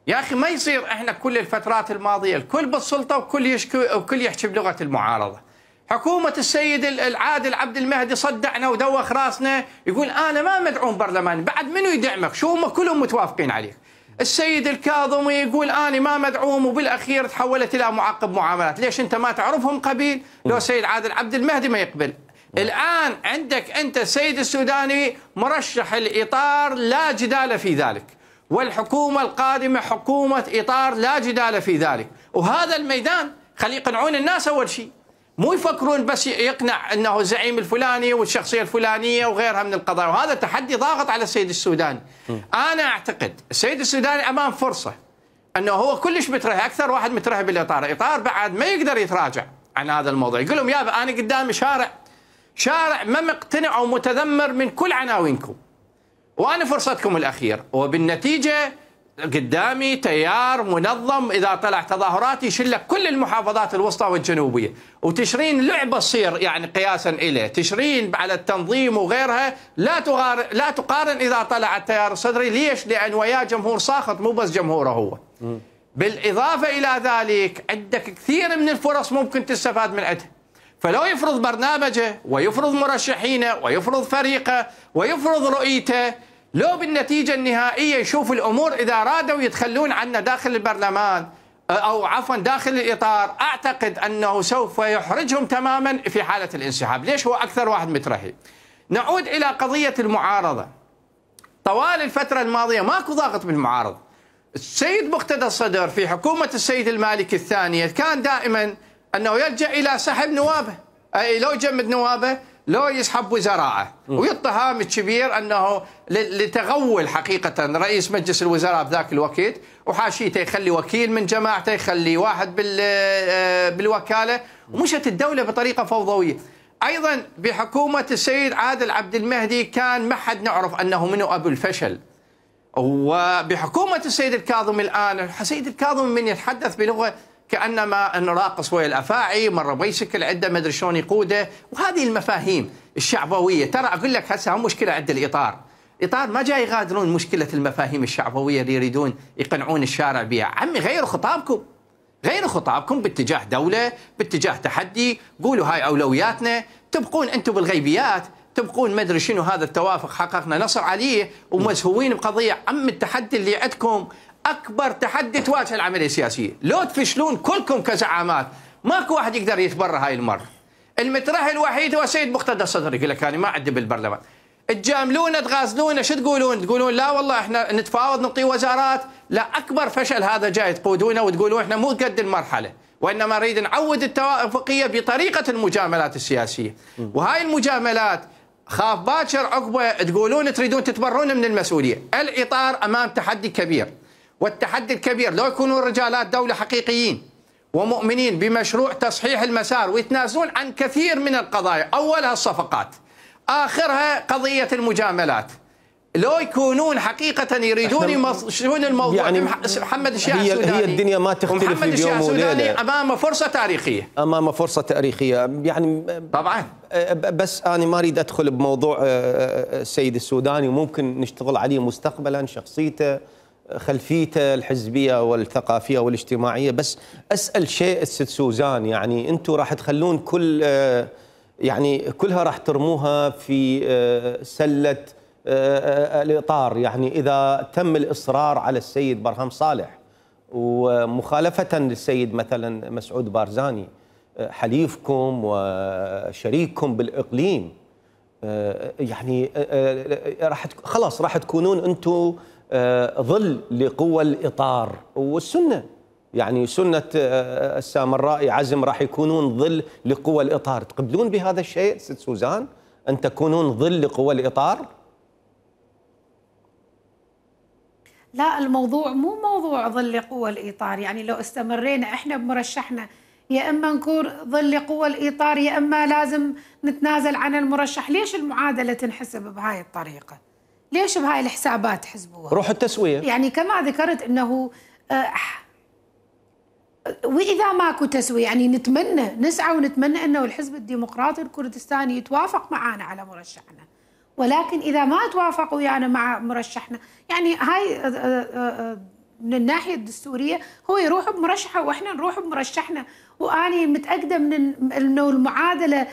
يا أخي ما يصير إحنا كل الفترات الماضية الكل بالسلطة وكل يشكي وكل يحكي بلغة المعارضة. حكومة السيد العادل عبد المهدي صدعنا ودوخ راسنا، يقول أنا ما مدعوم برلماني، بعد منو يدعمك؟ شو هم كلهم متوافقين عليك. السيد الكاظمي يقول أنا ما مدعوم، وبالأخير تحولت إلى معقب معاملات. ليش أنت ما تعرفهم قبيل؟ لو السيد عادل عبد المهدي ما يقبل. الآن عندك أنت السيد السوداني مرشح الإطار لا جدال في ذلك، والحكومة القادمة حكومة إطار لا جدال في ذلك، وهذا الميدان خلي يقنعون الناس أول شيء، مو يفكرون بس يقنع أنه الزعيم الفلاني والشخصية الفلانية وغيرها من القضايا. وهذا تحدي ضاغط على السيد السوداني. أنا أعتقد السيد السوداني أمام فرصة أنه هو كلش مترهب، أكثر واحد مترهب بالإطار. إطار بعد ما يقدر يتراجع عن هذا الموضوع، يقول لهم يابا أنا قدامي شارع شارع ما مقتنع ومتذمر من كل عناوينكم، وأنا فرصتكم الأخير. وبالنتيجة قدامي تيار منظم، إذا طلع تظاهرات يشيل لك كل المحافظات الوسطى والجنوبية، وتشرين لعبة تصير يعني قياسا إليه، تشرين على التنظيم وغيرها لا تقارن لا تقارن إذا طلع التيار الصدري. ليش؟ لأن وياه جمهور ساخط مو بس جمهوره هو. بالإضافة إلى ذلك عندك كثير من الفرص ممكن تستفاد من عندها. فلو يفرض برنامجه ويفرض مرشحينه ويفرض فريقه ويفرض رؤيته، لو بالنتيجة النهائية يشوف الأمور إذا أرادوا يتخلون عنا داخل البرلمان أو عفوا داخل الإطار، أعتقد أنه سوف يحرجهم تماما في حالة الانسحاب. ليش؟ هو أكثر واحد مترهب. نعود إلى قضية المعارضة. طوال الفترة الماضية ماكو ضاغط من المعارضة. السيد مقتدى الصدر في حكومة السيد المالكي الثانية كان دائما أنه يلجأ إلى سحب نوابه، أي لو يجمد نوابه لو يسحب وزراءه، ويتهم الكبير أنه لتغول حقيقة رئيس مجلس الوزراء بذاك الوقت، وحاشيته يخلي وكيل من جماعته، يخلي واحد بالوكالة، ومشت الدولة بطريقة فوضوية. ايضا بحكومه السيد عادل عبد المهدي كان ما حد نعرف انه منو ابو الفشل. وبحكومه السيد الكاظم الان السيد الكاظم من يتحدث بلغه كانما انه راقص ويا الافاعي، مره بيسكل عنده ما ادري شلون يقوده، وهذه المفاهيم الشعبويه. ترى اقول لك هسه هم مشكله عند الاطار، الاطار ما جاي يغادرون مشكله المفاهيم الشعبويه اللي يريدون يقنعون الشارع بها. عمي غيروا خطابكم، غيروا خطابكم باتجاه دوله، باتجاه تحدي، قولوا هاي اولوياتنا، تبقون انتم بالغيبيات، تبقون ما ادري شنو هذا التوافق حققنا نصر عليه ومزهوين بقضيه. عم التحدي اللي عندكم اكبر تحدي تواجه العمليه السياسيه، لو تفشلون كلكم كزعامات ماكو واحد يقدر يتبرى هاي المره. المترهل الوحيد هو السيد مقتدى الصدر، يقول لك انا ما عندي بالبرلمان. تجاملونا تغازلونا، شو تقولون؟ تقولون لا والله احنا نتفاوض نعطي وزارات. لا، اكبر فشل هذا جاي تقودونه وتقولون احنا مو قد المرحله، وانما نريد نعود التوافقيه بطريقه المجاملات السياسيه. وهاي المجاملات خاف باكر عقبه تقولون تريدون تتبرون من المسؤوليه. الاطار امام تحدي كبير، والتحدي الكبير لو يكونوا رجالات دوله حقيقيين ومؤمنين بمشروع تصحيح المسار ويتنازلون عن كثير من القضايا، اولها الصفقات، اخرها قضيه المجاملات، لو يكونون حقيقه يريدون يمشون الموضوع. يعني محمد الشيع
هي,
السوداني
هي الدنيا ما تختلف في يوم وليله،
امام فرصه تاريخيه،
امام فرصه تاريخيه يعني
طبعا.
بس انا ما اريد ادخل بموضوع السيد السوداني، وممكن نشتغل عليه مستقبلا، شخصيته، خلفيته الحزبيه والثقافيه والاجتماعيه. بس اسال شيء الست سوزان، يعني انتم راح تخلون كل يعني كلها راح ترموها في سله الاطار، يعني اذا تم الاصرار على السيد برهام صالح ومخالفه للسيد مثلا مسعود بارزاني حليفكم وشريككم بالاقليم، يعني راح خلاص راح تكونون انتم ظل لقوى الاطار والسنه، يعني سنه السامرائي عزم راح يكونون ظل لقوى الاطار. تقبلون بهذا الشيء ست سوزان، ان تكونون ظل لقوى الاطار؟
لا، الموضوع مو موضوع ظل لقوى الاطار، يعني لو استمرينا احنا بمرشحنا يا اما نكون ظل لقوى الاطار يا اما لازم نتنازل عن المرشح. ليش المعادله تنحسب بهاي الطريقه؟ ليش بهاي الحسابات حسبوها؟
روح التسويه.
يعني كما ذكرت انه آه واذا ماكو تسويه يعني نتمنى نسعى ونتمنى انه الحزب الديمقراطي الكردستاني يتوافق معنا على مرشحنا، ولكن اذا ما توافقوا ويانا مع مرشحنا يعني هاي من الناحيه الدستوريه هو يروح بمرشحه واحنا نروح بمرشحنا. واني متاكده من انه المعادله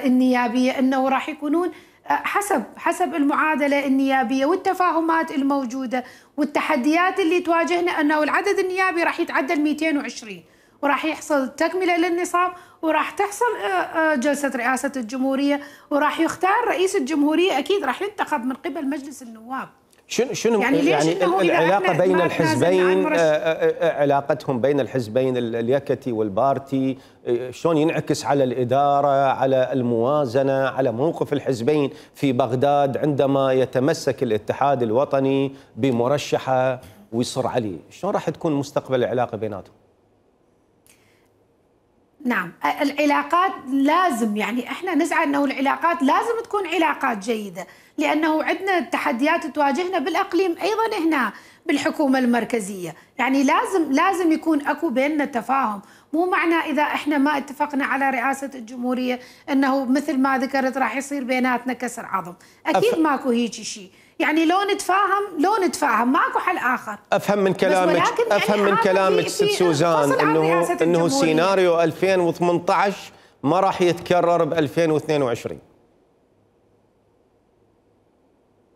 النيابيه انه راح يكونون حسب حسب المعادله النيابيه والتفاهمات الموجوده والتحديات اللي تواجهنا، انه العدد النيابي راح يتعدى مئتين وعشرين وراح يحصل تكمله للنصاب وراح تحصل جلسه رئاسه الجمهوريه وراح يختار رئيس الجمهوريه، اكيد راح ينتخب من قبل مجلس النواب.
شنو شنو يعني, يعني العلاقه بين الحزبين، علاقتهم بين الحزبين اليكتي والبارتي شلون ينعكس على الاداره، على الموازنه، على موقف الحزبين في بغداد عندما يتمسك الاتحاد الوطني بمرشحه ويصر عليه؟ شلون راح تكون مستقبل العلاقه بيناتهم؟
نعم، العلاقات لازم يعني احنا نسعى انه العلاقات لازم تكون علاقات جيده، لانه عندنا تحديات تواجهنا بالاقليم ايضا هنا بالحكومه المركزيه، يعني لازم لازم يكون اكو بيننا تفاهم، مو معنى اذا احنا ما اتفقنا على رئاسه الجمهوريه انه مثل ما ذكرت راح يصير بيناتنا كسر عظم، اكيد أف... ماكو هيك شيء، يعني لو نتفاهم لو نتفاهم ماكو حل اخر.
افهم من كلامك افهم يعني من كلامك ست سوزان انه انه سيناريو ألفين وثمانية عشر ما راح يتكرر ب ألفين واثنين وعشرين.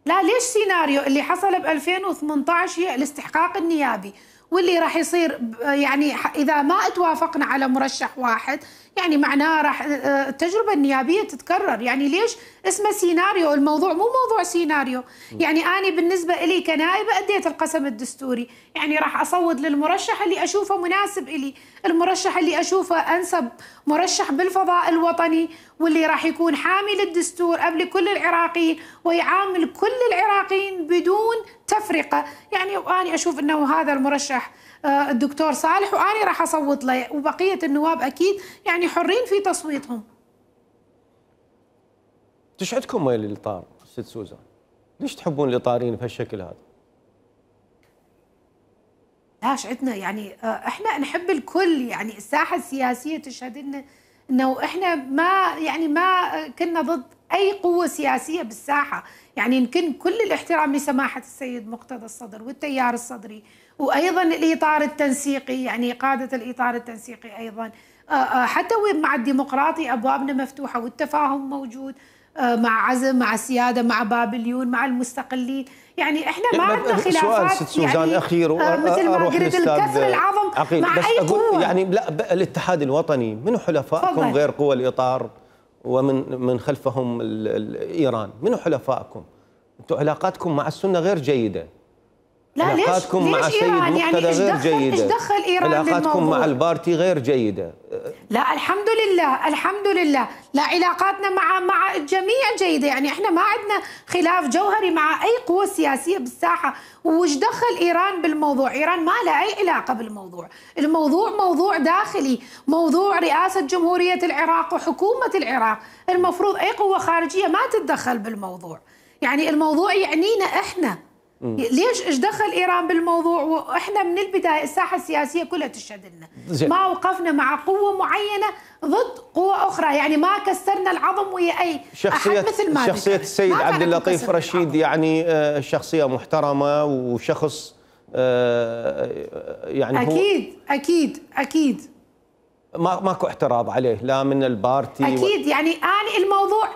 لا، ليش سيناريو اللي حصل ب ألفين وثمانية عشر هي الاستحقاق النيابي، واللي راح يصير يعني اذا ما توافقنا على مرشح واحد يعني معناه راح التجربه النيابيه تتكرر، يعني ليش اسمه سيناريو؟ الموضوع مو موضوع سيناريو، يعني انا بالنسبه لي كنائبه اديت القسم الدستوري، يعني راح اصوت للمرشح اللي اشوفه مناسب الي، المرشح اللي اشوفه انسب مرشح بالفضاء الوطني واللي راح يكون حامي للدستور قبل كل العراقيين ويعامل كل العراقيين بدون تفرقه، يعني انا اشوف انه هذا المرشح الدكتور صالح واني راح اصوت له، وبقيه النواب اكيد يعني حرين في تصويتهم.
ايش عندكم ميل الاطار ست سوزان؟ ليش تحبون الاطاريين بهالشكل هذا؟
لاش عندنا يعني احنا نحب الكل، يعني الساحه السياسيه تشهد لنا انه احنا ما يعني ما كنا ضد اي قوه سياسيه بالساحه، يعني يمكن كل الاحترام لسماحه السيد مقتدى الصدر والتيار الصدري، وايضا الاطار التنسيقي، يعني قاده الاطار التنسيقي ايضا حتى مع الديمقراطي ابوابنا مفتوحه والتفاهم موجود، مع عزم، مع السياده، مع بابليون، مع المستقلين، يعني احنا ما عندنا خلافات.
سؤال ست سوزان
يعني
اخير
مثل ما قلت الكسر العظم
عقيل.
مع
بس
اي
أقول
قوه.
يعني لا، الاتحاد الوطني منو حلفائكم
فضل.
غير قوى الاطار ومن من خلفهم ال ال ايران؟ منو حلفائكم؟ انتم علاقاتكم مع السنه غير جيده.
لا
علاقاتكم
ليش
مع
ليش
السيد
إيران؟
مقتدى
يعني
غير
دخل
جيده.
ايش دخل ايران
علاقاتكم
بالموضوع؟
مع البارتي غير جيده.
لا الحمد لله الحمد لله، لا علاقاتنا مع مع الجميع جيده، يعني احنا ما عندنا خلاف جوهري مع اي قوه سياسيه بالساحه، وش دخل ايران بالموضوع؟ ايران ما لها اي علاقه بالموضوع، الموضوع موضوع داخلي، موضوع رئاسه جمهوريه العراق وحكومه العراق، المفروض اي قوه خارجيه ما تتدخل بالموضوع، يعني الموضوع يعنينا احنا. ليش ايش دخل ايران بالموضوع؟ واحنا من البدايه الساحه السياسيه كلها تشهد لنا ما وقفنا مع قوه معينه ضد قوه اخرى، يعني ما كسرنا العظم ويا اي
شخصيه
أحد مثل ما
شخصيه السيد عبد اللطيف رشيد يعني شخصيه محترمه وشخص يعني
اكيد
هو
اكيد اكيد
ما ماكو اعتراض عليه لا من البارتي
اكيد و... يعني اني الموضوع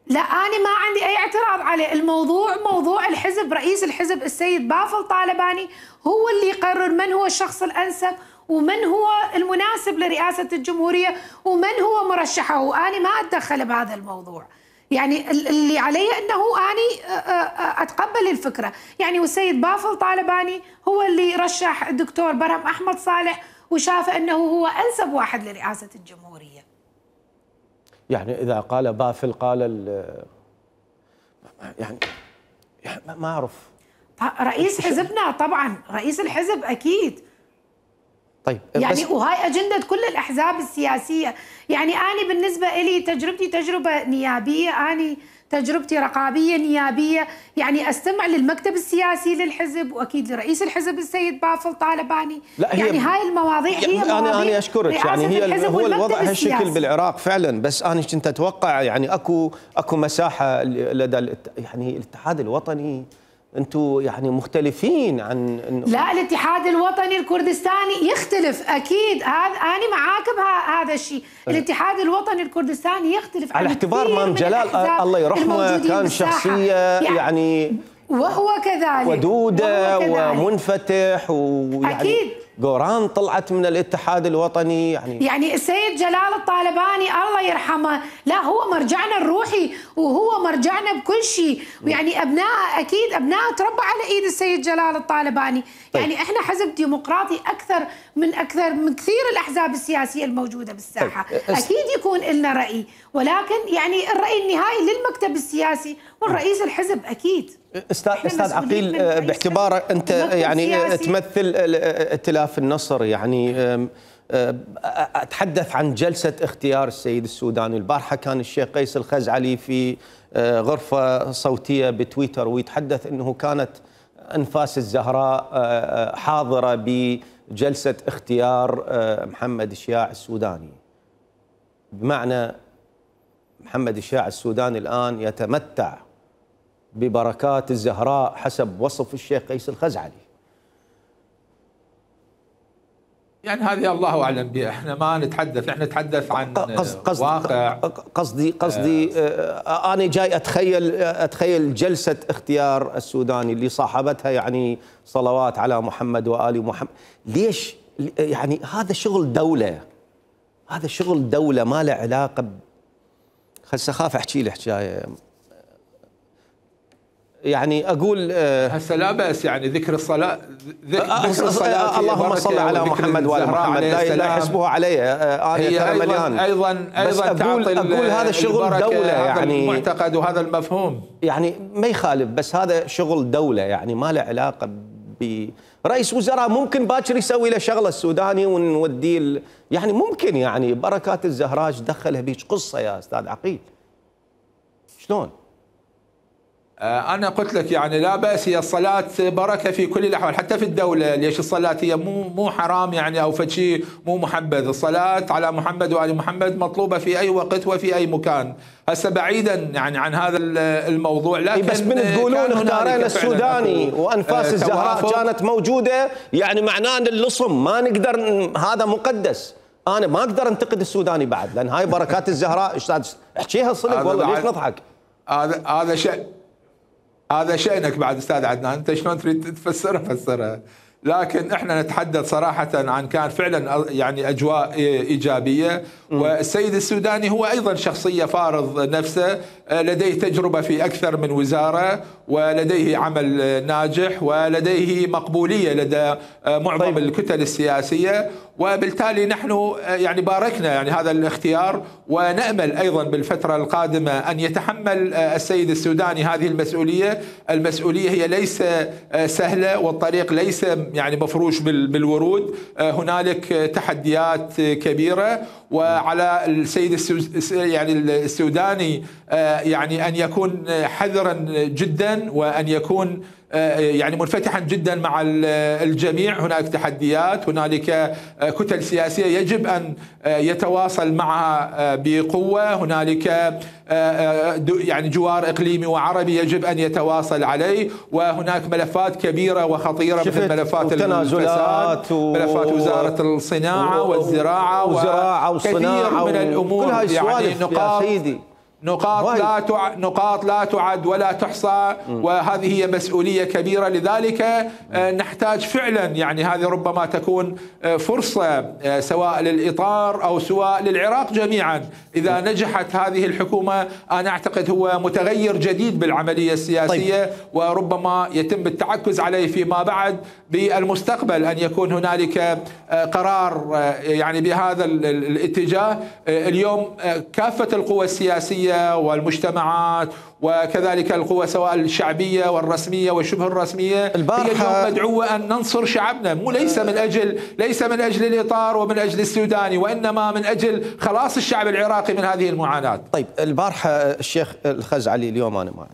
لا أنا ما عندي أي اعتراض عليه، الموضوع موضوع الحزب، رئيس الحزب السيد بافل طالباني هو اللي يقرر من هو الشخص الأنسب ومن هو المناسب لرئاسة الجمهورية ومن هو مرشحه، وأنا ما أتدخل بهذا الموضوع، يعني اللي علي أنه أنا أتقبل الفكرة، يعني والسيد بافل طالباني هو اللي رشح الدكتور برهم أحمد صالح وشاف أنه هو أنسب واحد لرئاسة الجمهورية.
يعني إذا قال بافل قال يعني ما أعرف.
رئيس حزبنا طبعا، رئيس الحزب أكيد.
طيب
يعني وهاي أجندة كل الأحزاب السياسية، يعني أنا بالنسبة لي تجربتي تجربة نيابية، أنا تجربتي رقابية نيابية، يعني أستمع للمكتب السياسي للحزب وأكيد لرئيس الحزب السيد بافل طالباني،
لا هي
يعني هاي المواضيع هي
أنا
مواضيع
أنا أشكرك، يعني هي هو الوضع هالشكل بالعراق فعلا، بس أنا كنت أتوقع يعني أكو أكو مساحة لدى يعني الاتحاد الوطني، أنتم يعني مختلفين عن إنه
لا الاتحاد الوطني الكردستاني يختلف اكيد، هذا انا معاك بهذا الشيء، الاتحاد الوطني الكردستاني يختلف
على اعتبار مام جلال الله يرحمه كان شخصيه يعني, يعني
وهو كذلك
ودوده ومنفتح، ويعني
اكيد
قوران طلعت من الاتحاد الوطني، يعني
يعني السيد جلال الطالباني الله يرحمه لا هو مرجعنا الروحي وهو مرجعنا بكل شيء، ويعني ابناء اكيد ابناء تربى على ايد السيد جلال الطالباني. طيب. يعني احنا حزب ديمقراطي اكثر من اكثر من كثير الاحزاب السياسيه الموجوده بالساحه. طيب. اكيد يكون لنا راي، ولكن يعني الراي النهائي للمكتب السياسي والرئيس الحزب اكيد.
استاذ استاذ عقيل باعتبار انت يعني تمثل ائتلاف النصر، يعني اتحدث عن جلسه اختيار السيد السوداني، البارحه كان الشيخ قيس الخزعلي في غرفه صوتيه بتويتر ويتحدث انه كانت انفاس الزهراء حاضره بجلسه اختيار محمد الشياع السوداني، بمعنى محمد الشياع السوداني الان يتمتع ببركات الزهراء حسب وصف الشيخ قيس الخزعلي.
يعني هذه الله اعلم بها، احنا ما نتحدث، احنا نتحدث عن
قصد
واقع.
قصدي قصدي آه انا جاي اتخيل اتخيل جلسه اختيار السوداني اللي صاحبتها يعني صلوات على محمد وآل محمد، ليش؟ يعني هذا شغل دوله، هذا شغل دوله ما له علاقه ب... هسه خاف احكي لي حكايه، يعني اقول
هسه لا باس يعني ذكر الصلاه
ذكر الصلاه اللهم صل على محمد وعلى محمد لا يحسبوها علي انا ترى مليان،
ايضا ايضا
اقول اقول هذا شغل دوله، يعني
المعتقد وهذا المفهوم
يعني ما يخالف، بس هذا شغل دوله يعني ما له علاقه ب رئيس وزراء ممكن باكر يسوي له شغله السوداني ونوديه، يعني ممكن يعني بركات الزهراء دخلها بيج قصه يا استاذ عقيل، شلون؟
أنا قلت لك يعني لا بأس، هي الصلاة بركة في كل الأحوال حتى في الدولة. ليش الصلاة هي مو مو حرام يعني أو فشي مو محبذ. الصلاة على محمد وآل محمد مطلوبة في أي وقت وفي أي مكان. هسه بعيدا يعني عن هذا الموضوع، لكن
بس من تقولون اختارينا السوداني وأنفاس الزهراء كانت موجودة، يعني معناه أن اللصم ما نقدر، هذا مقدس. أنا ما أقدر أنتقد السوداني بعد، لأن هاي بركات الزهراء. أستاذ احكيها صدق والله، ليش نضحك؟
هذا هذا شيء هذا شأنك بعد أستاذ عدنان، أنت شلون تريد تفسرها فسرها. لكن احنا نتحدث صراحة عن كان فعلا يعني أجواء إيجابية. والسيد السوداني هو أيضا شخصية فارض نفسه، لديه تجربة في أكثر من وزارة، ولديه عمل ناجح، ولديه مقبولية لدى معظم طيب. الكتل السياسية. وبالتالي نحن يعني باركنا يعني هذا الاختيار، ونأمل أيضا بالفترة القادمة أن يتحمل السيد السوداني هذه المسؤولية. المسؤولية هي ليس سهلة، والطريق ليس يعني مفروش بالورود. هنالك تحديات كبيرة، وعلى السيد يعني السوداني يعني أن يكون حذرا جدا، وأن يكون يعني منفتحا جدا مع الجميع. هناك تحديات، هنالك كتل سياسية يجب أن يتواصل معها بقوة، هنالك يعني جوار إقليمي وعربي يجب أن يتواصل عليه، وهناك ملفات كبيرة وخطيرة مثل ملفات التنازلات و... ملفات وزارة الصناعة و... والزراعة
وزراعة وصناعة
وكثير من الأمور. يعني نقاط
سيدي.
نقاط لا تع... نقاط لا تعد ولا تحصى، وهذه هي مسؤولية كبيرة. لذلك نحتاج فعلا يعني هذه ربما تكون فرصة سواء للإطار أو سواء للعراق جميعا. إذا نجحت هذه الحكومة أنا أعتقد هو متغير جديد بالعملية السياسية. طيب. وربما يتم التعكز عليه فيما بعد بالمستقبل، أن يكون هنالك قرار يعني بهذا الاتجاه. اليوم كافة القوى السياسية والمجتمعات وكذلك القوى سواء الشعبية والرسمية والشبه الرسمية هي اليوم مدعوة أن ننصر شعبنا، مو ليس من أجل ليس من أجل الإطار ومن أجل السوداني، وإنما من أجل خلاص الشعب العراقي من هذه المعاناة.
طيب البارحة الشيخ الخزعلي، اليوم أنا ما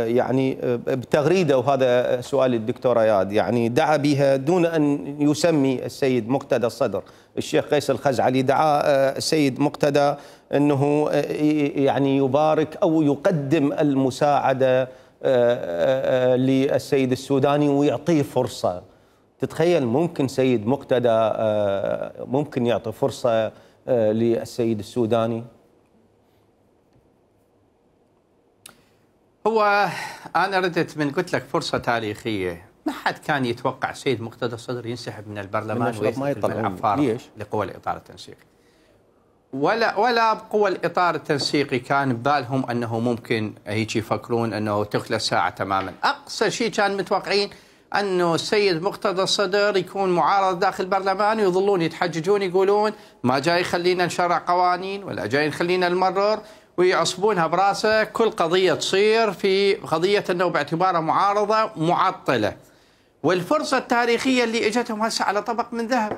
يعني بتغريدة، وهذا سؤال الدكتور اياد، يعني دعا بها دون أن يسمي السيد مقتدى الصدر. الشيخ قيس الخزعلي دعا السيد مقتدى أنه يعني يبارك أو يقدم المساعدة للسيد السوداني ويعطيه فرصة. تتخيل ممكن سيد مقتدى ممكن يعطي فرصة للسيد السوداني؟
هو أنا ردت من قلت لك فرصة تاريخية. ما حد كان يتوقع السيد مقتدى الصدر ينسحب من البرلمان ويدخل العفار لقوى الإطار التنسيقي، ولا ولا بقوى الإطار التنسيقي كان ببالهم أنه ممكن هيك يفكرون أنه تخلى الساعة تماما. أقصى شيء كان متوقعين أنه السيد مقتدى الصدر يكون معارض داخل البرلمان، ويظلون يتحججون يقولون ما جاي يخلينا نشرع قوانين ولا جاي يخلينا نمرر، ويعصبونها براسه. كل قضية تصير في قضية أنه باعتبارها معارضة معطلة. والفرصة التاريخية اللي اجتهم هسه على طبق من ذهب.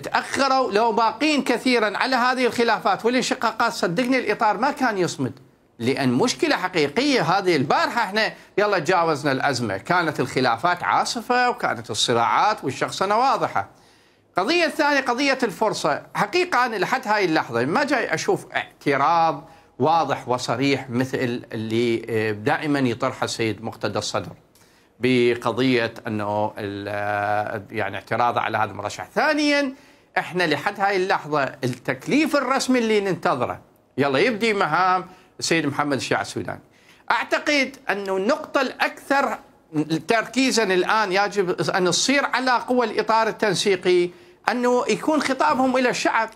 تأخروا، لو باقين كثيرا على هذه الخلافات والانشقاقات صدقني الإطار ما كان يصمد، لأن مشكلة حقيقية هذه. البارحة احنا يلا تجاوزنا الأزمة، كانت الخلافات عاصفة وكانت الصراعات والشخصنة واضحة. قضية ثانية قضية الفرصة. حقيقة أنا لحد هاي اللحظة ما جاي أشوف اعتراض واضح وصريح مثل اللي دائما يطرحه السيد مقتدى الصدر بقضية أنه يعني اعتراض على هذا المرشح. ثانيا احنا لحد هاي اللحظة التكليف الرسمي اللي ننتظره يلا يبدي مهام السيد محمد الشيع السوداني. أعتقد أنه النقطة الأكثر تركيزا الآن يجب أن تصير على قوى الإطار التنسيقي، أنه يكون خطابهم إلى الشعب.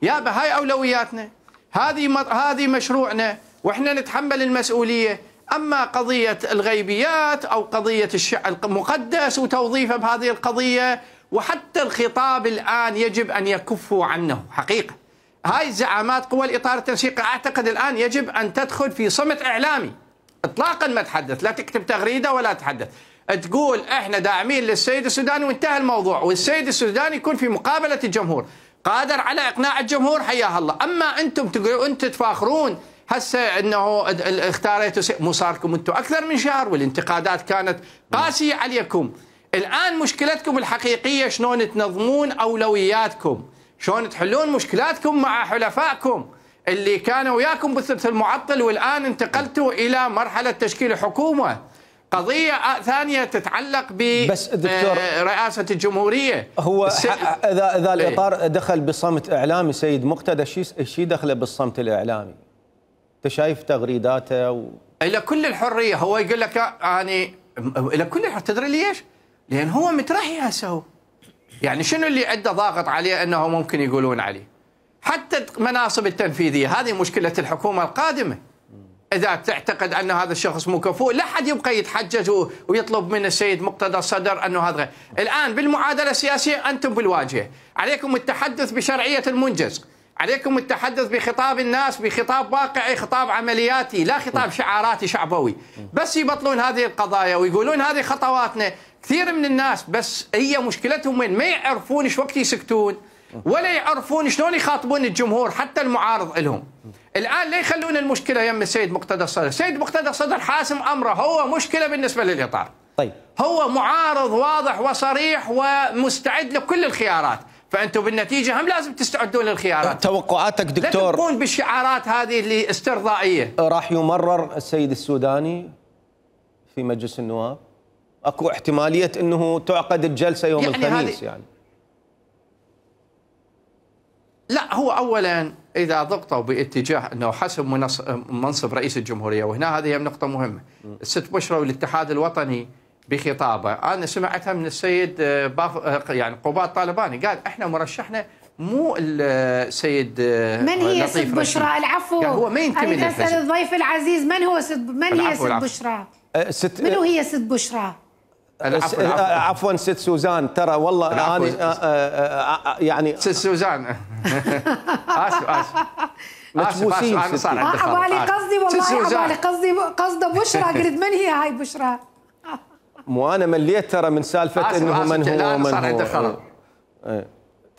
يابا هاي أولوياتنا، هذه هذه مشروعنا، وإحنا نتحمل المسؤولية. أما قضية الغيبيات أو قضية الشعب المقدس وتوظيفه بهذه القضية، وحتى الخطاب الآن يجب أن يكفوا عنه حقيقة. هاي زعامات قوى الإطار التنسيقي أعتقد الآن يجب أن تدخل في صمت إعلامي إطلاقا، ما تحدث، لا تكتب تغريدة ولا تحدث، تقول إحنا داعمين للسيد السوداني وانتهى الموضوع، والسيد السوداني يكون في مقابلة الجمهور قادر على إقناع الجمهور حياه الله. أما أنتم تقولوا أنتم تفاخرون هسه انه اختاريتوا مو صار لكم انتم اكثر من شهر والانتقادات كانت قاسيه عليكم. الان مشكلتكم الحقيقيه شلون تنظمون اولوياتكم، شلون تحلون مشكلاتكم مع حلفائكم اللي كانوا وياكم بالثلث المعطل، والان انتقلتوا الى مرحله تشكيل حكومه. قضيه ثانيه تتعلق برئاسه الجمهوريه.
هو اذا اذا الاطار دخل بصمت اعلامي سيد مقتدى، شيء شيء دخله بالصمت الاعلامي؟ انت شايف تغريداته و...
الى كل الحريه، هو يقول لك يعني الى كل الحريه. تدري ليش؟ لان هو مترحي هسه هو. يعني شنو اللي عنده ضاغط عليه انه ممكن يقولون عليه؟ حتى المناصب التنفيذيه، هذه مشكله الحكومه القادمه. اذا تعتقد ان هذا الشخص مو كفؤ، لا حد يبقى يتحجج ويطلب من السيد مقتدى الصدر انه هذا. الان بالمعادله السياسيه انتم بالواجهه، عليكم التحدث بشرعيه المنجز، عليكم التحدث بخطاب الناس بخطاب واقعي، خطاب عملياتي، لا خطاب شعاراتي شعبوي. بس يبطلون هذه القضايا ويقولون هذه خطواتنا. كثير من الناس بس هي مشكلتهم وين؟ ما يعرفون ايش وقت يسكتون، ولا يعرفون شلون يخاطبون الجمهور حتى المعارض لهم. الان لا يخلون المشكله يم السيد مقتدى الصدر، السيد مقتدى الصدر حاسم امره، هو مشكله بالنسبه للاطار.
طيب
هو معارض واضح وصريح ومستعد لكل الخيارات، فانتم بالنتيجه هم لازم تستعدون للخيارات.
توقعاتك دكتور؟
لا تبقون بالشعارات هذه اللي استرضائيه.
راح يمرر السيد السوداني في مجلس النواب؟ اكو احتماليه انه تعقد الجلسه يوم يعني الخميس يعني؟
لا، هو اولا اذا ضغطوا باتجاه انه حسب منصب رئيس الجمهوريه، وهنا هذه نقطه مهمه. الست بشرى والاتحاد الوطني بخطابه انا سمعتها من السيد باف يعني قباد طالباني، قال احنا مرشحنا مو السيد
من هي ست بشرى؟ العفو،
يعني هو ما ينتمي للحزب.
اسال الضيف العزيز من هو ست من هي ست بشرى؟
ست
من هي ست بشرى؟
العفو عفوا ست سوزان، ترى والله انا يعني
ست سوزان اسف اسف
متبوسين.
انا صار عندي خطا، عبالي قصدي والله عبالي قصدي قصده بشرى، قلت من هي هاي بشرى؟
مو انا مليت ترى من سالفه انه من هو من هو.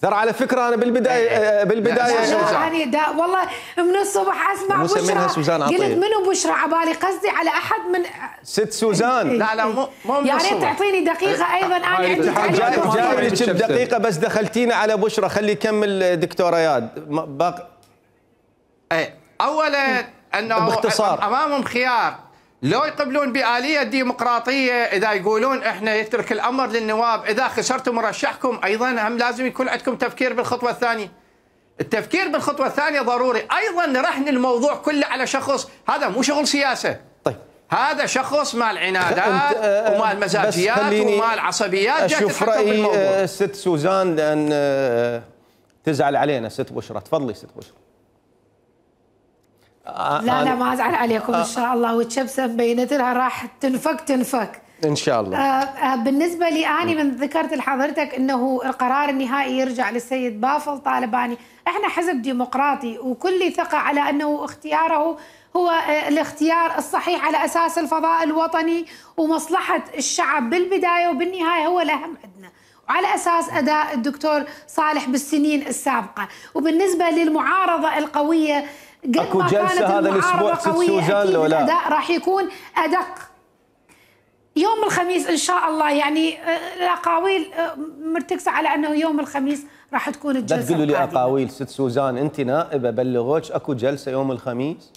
ترى على فكره انا بالبدايه بالبدايه
يعني دا والله من الصبح اسمع بشرى
سوزان
قلت منو بشرى، عبالي قصدي على احد من
ست سوزان.
لا لا مو مو
يا ريت تعطيني دقيقه ايضا، انا عندي
جاي لك بدقيقه بس دخلتينا على بشرى. خلي يكمل دكتور اياد باقي.
اي اولا انه
باختصار
امامهم خيار، لو يقبلون بآلية ديمقراطية، إذا يقولون إحنا يترك الأمر للنواب، إذا خسرتوا مرشحكم أيضا هم لازم يكون عندكم تفكير بالخطوة الثانية. التفكير بالخطوة الثانية ضروري. أيضا رهن الموضوع كله على شخص، هذا مو شغل سياسة.
طيب
هذا شخص مال عنادات ومال مزاجيات ومال عصبيات.
أشوف رأي ست سوزان لأن تزعل علينا ست بشرى. تفضلي ست بشرى.
لا لا ما ازعل عليكم ان شاء الله، والشبسه بينت لها راح تنفك تنفك
ان شاء الله.
آه بالنسبه لي اني من ذكرت لحضرتك انه القرار النهائي يرجع للسيد بافل طالباني، احنا حزب ديمقراطي وكل ثقه على انه اختياره هو الاختيار الصحيح على اساس الفضاء الوطني ومصلحه الشعب بالبدايه وبالنهايه هو الاهم عندنا، وعلى اساس اداء الدكتور صالح بالسنين السابقه. وبالنسبه للمعارضه القويه،
اكو جلسه هذا الاسبوع ست سوزان لو لا؟
الاداء راح يكون ادق يوم الخميس ان شاء الله، يعني الاقاويل مرتكزه على انه يوم الخميس راح تكون الجلسه.
لا تقولوا لي اقاويل ست سوزان، انت نائبه بلغوك اكو جلسه يوم الخميس؟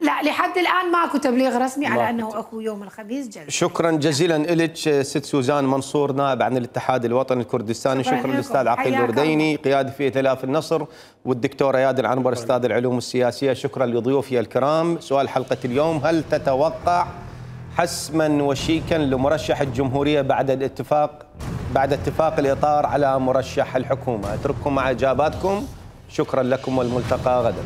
لا لحد الان ماكو تبليغ رسمي على انه اكو يوم الخميس جلسه.
شكرا جزيلا لك ست سوزان منصور، نائب عن الاتحاد الوطني الكردستاني. شكرا للاستاذ عقيل الورديني قيادي في ائتلاف النصر، والدكتور اياد العنبر استاذ العلوم السياسيه. شكرا لضيوفي الكرام. سؤال حلقه اليوم: هل تتوقع حسما وشيكا لمرشح الجمهوريه بعد الاتفاق بعد اتفاق الاطار على مرشح الحكومه؟ اترككم مع اجاباتكم. شكرا لكم والملتقى غدا.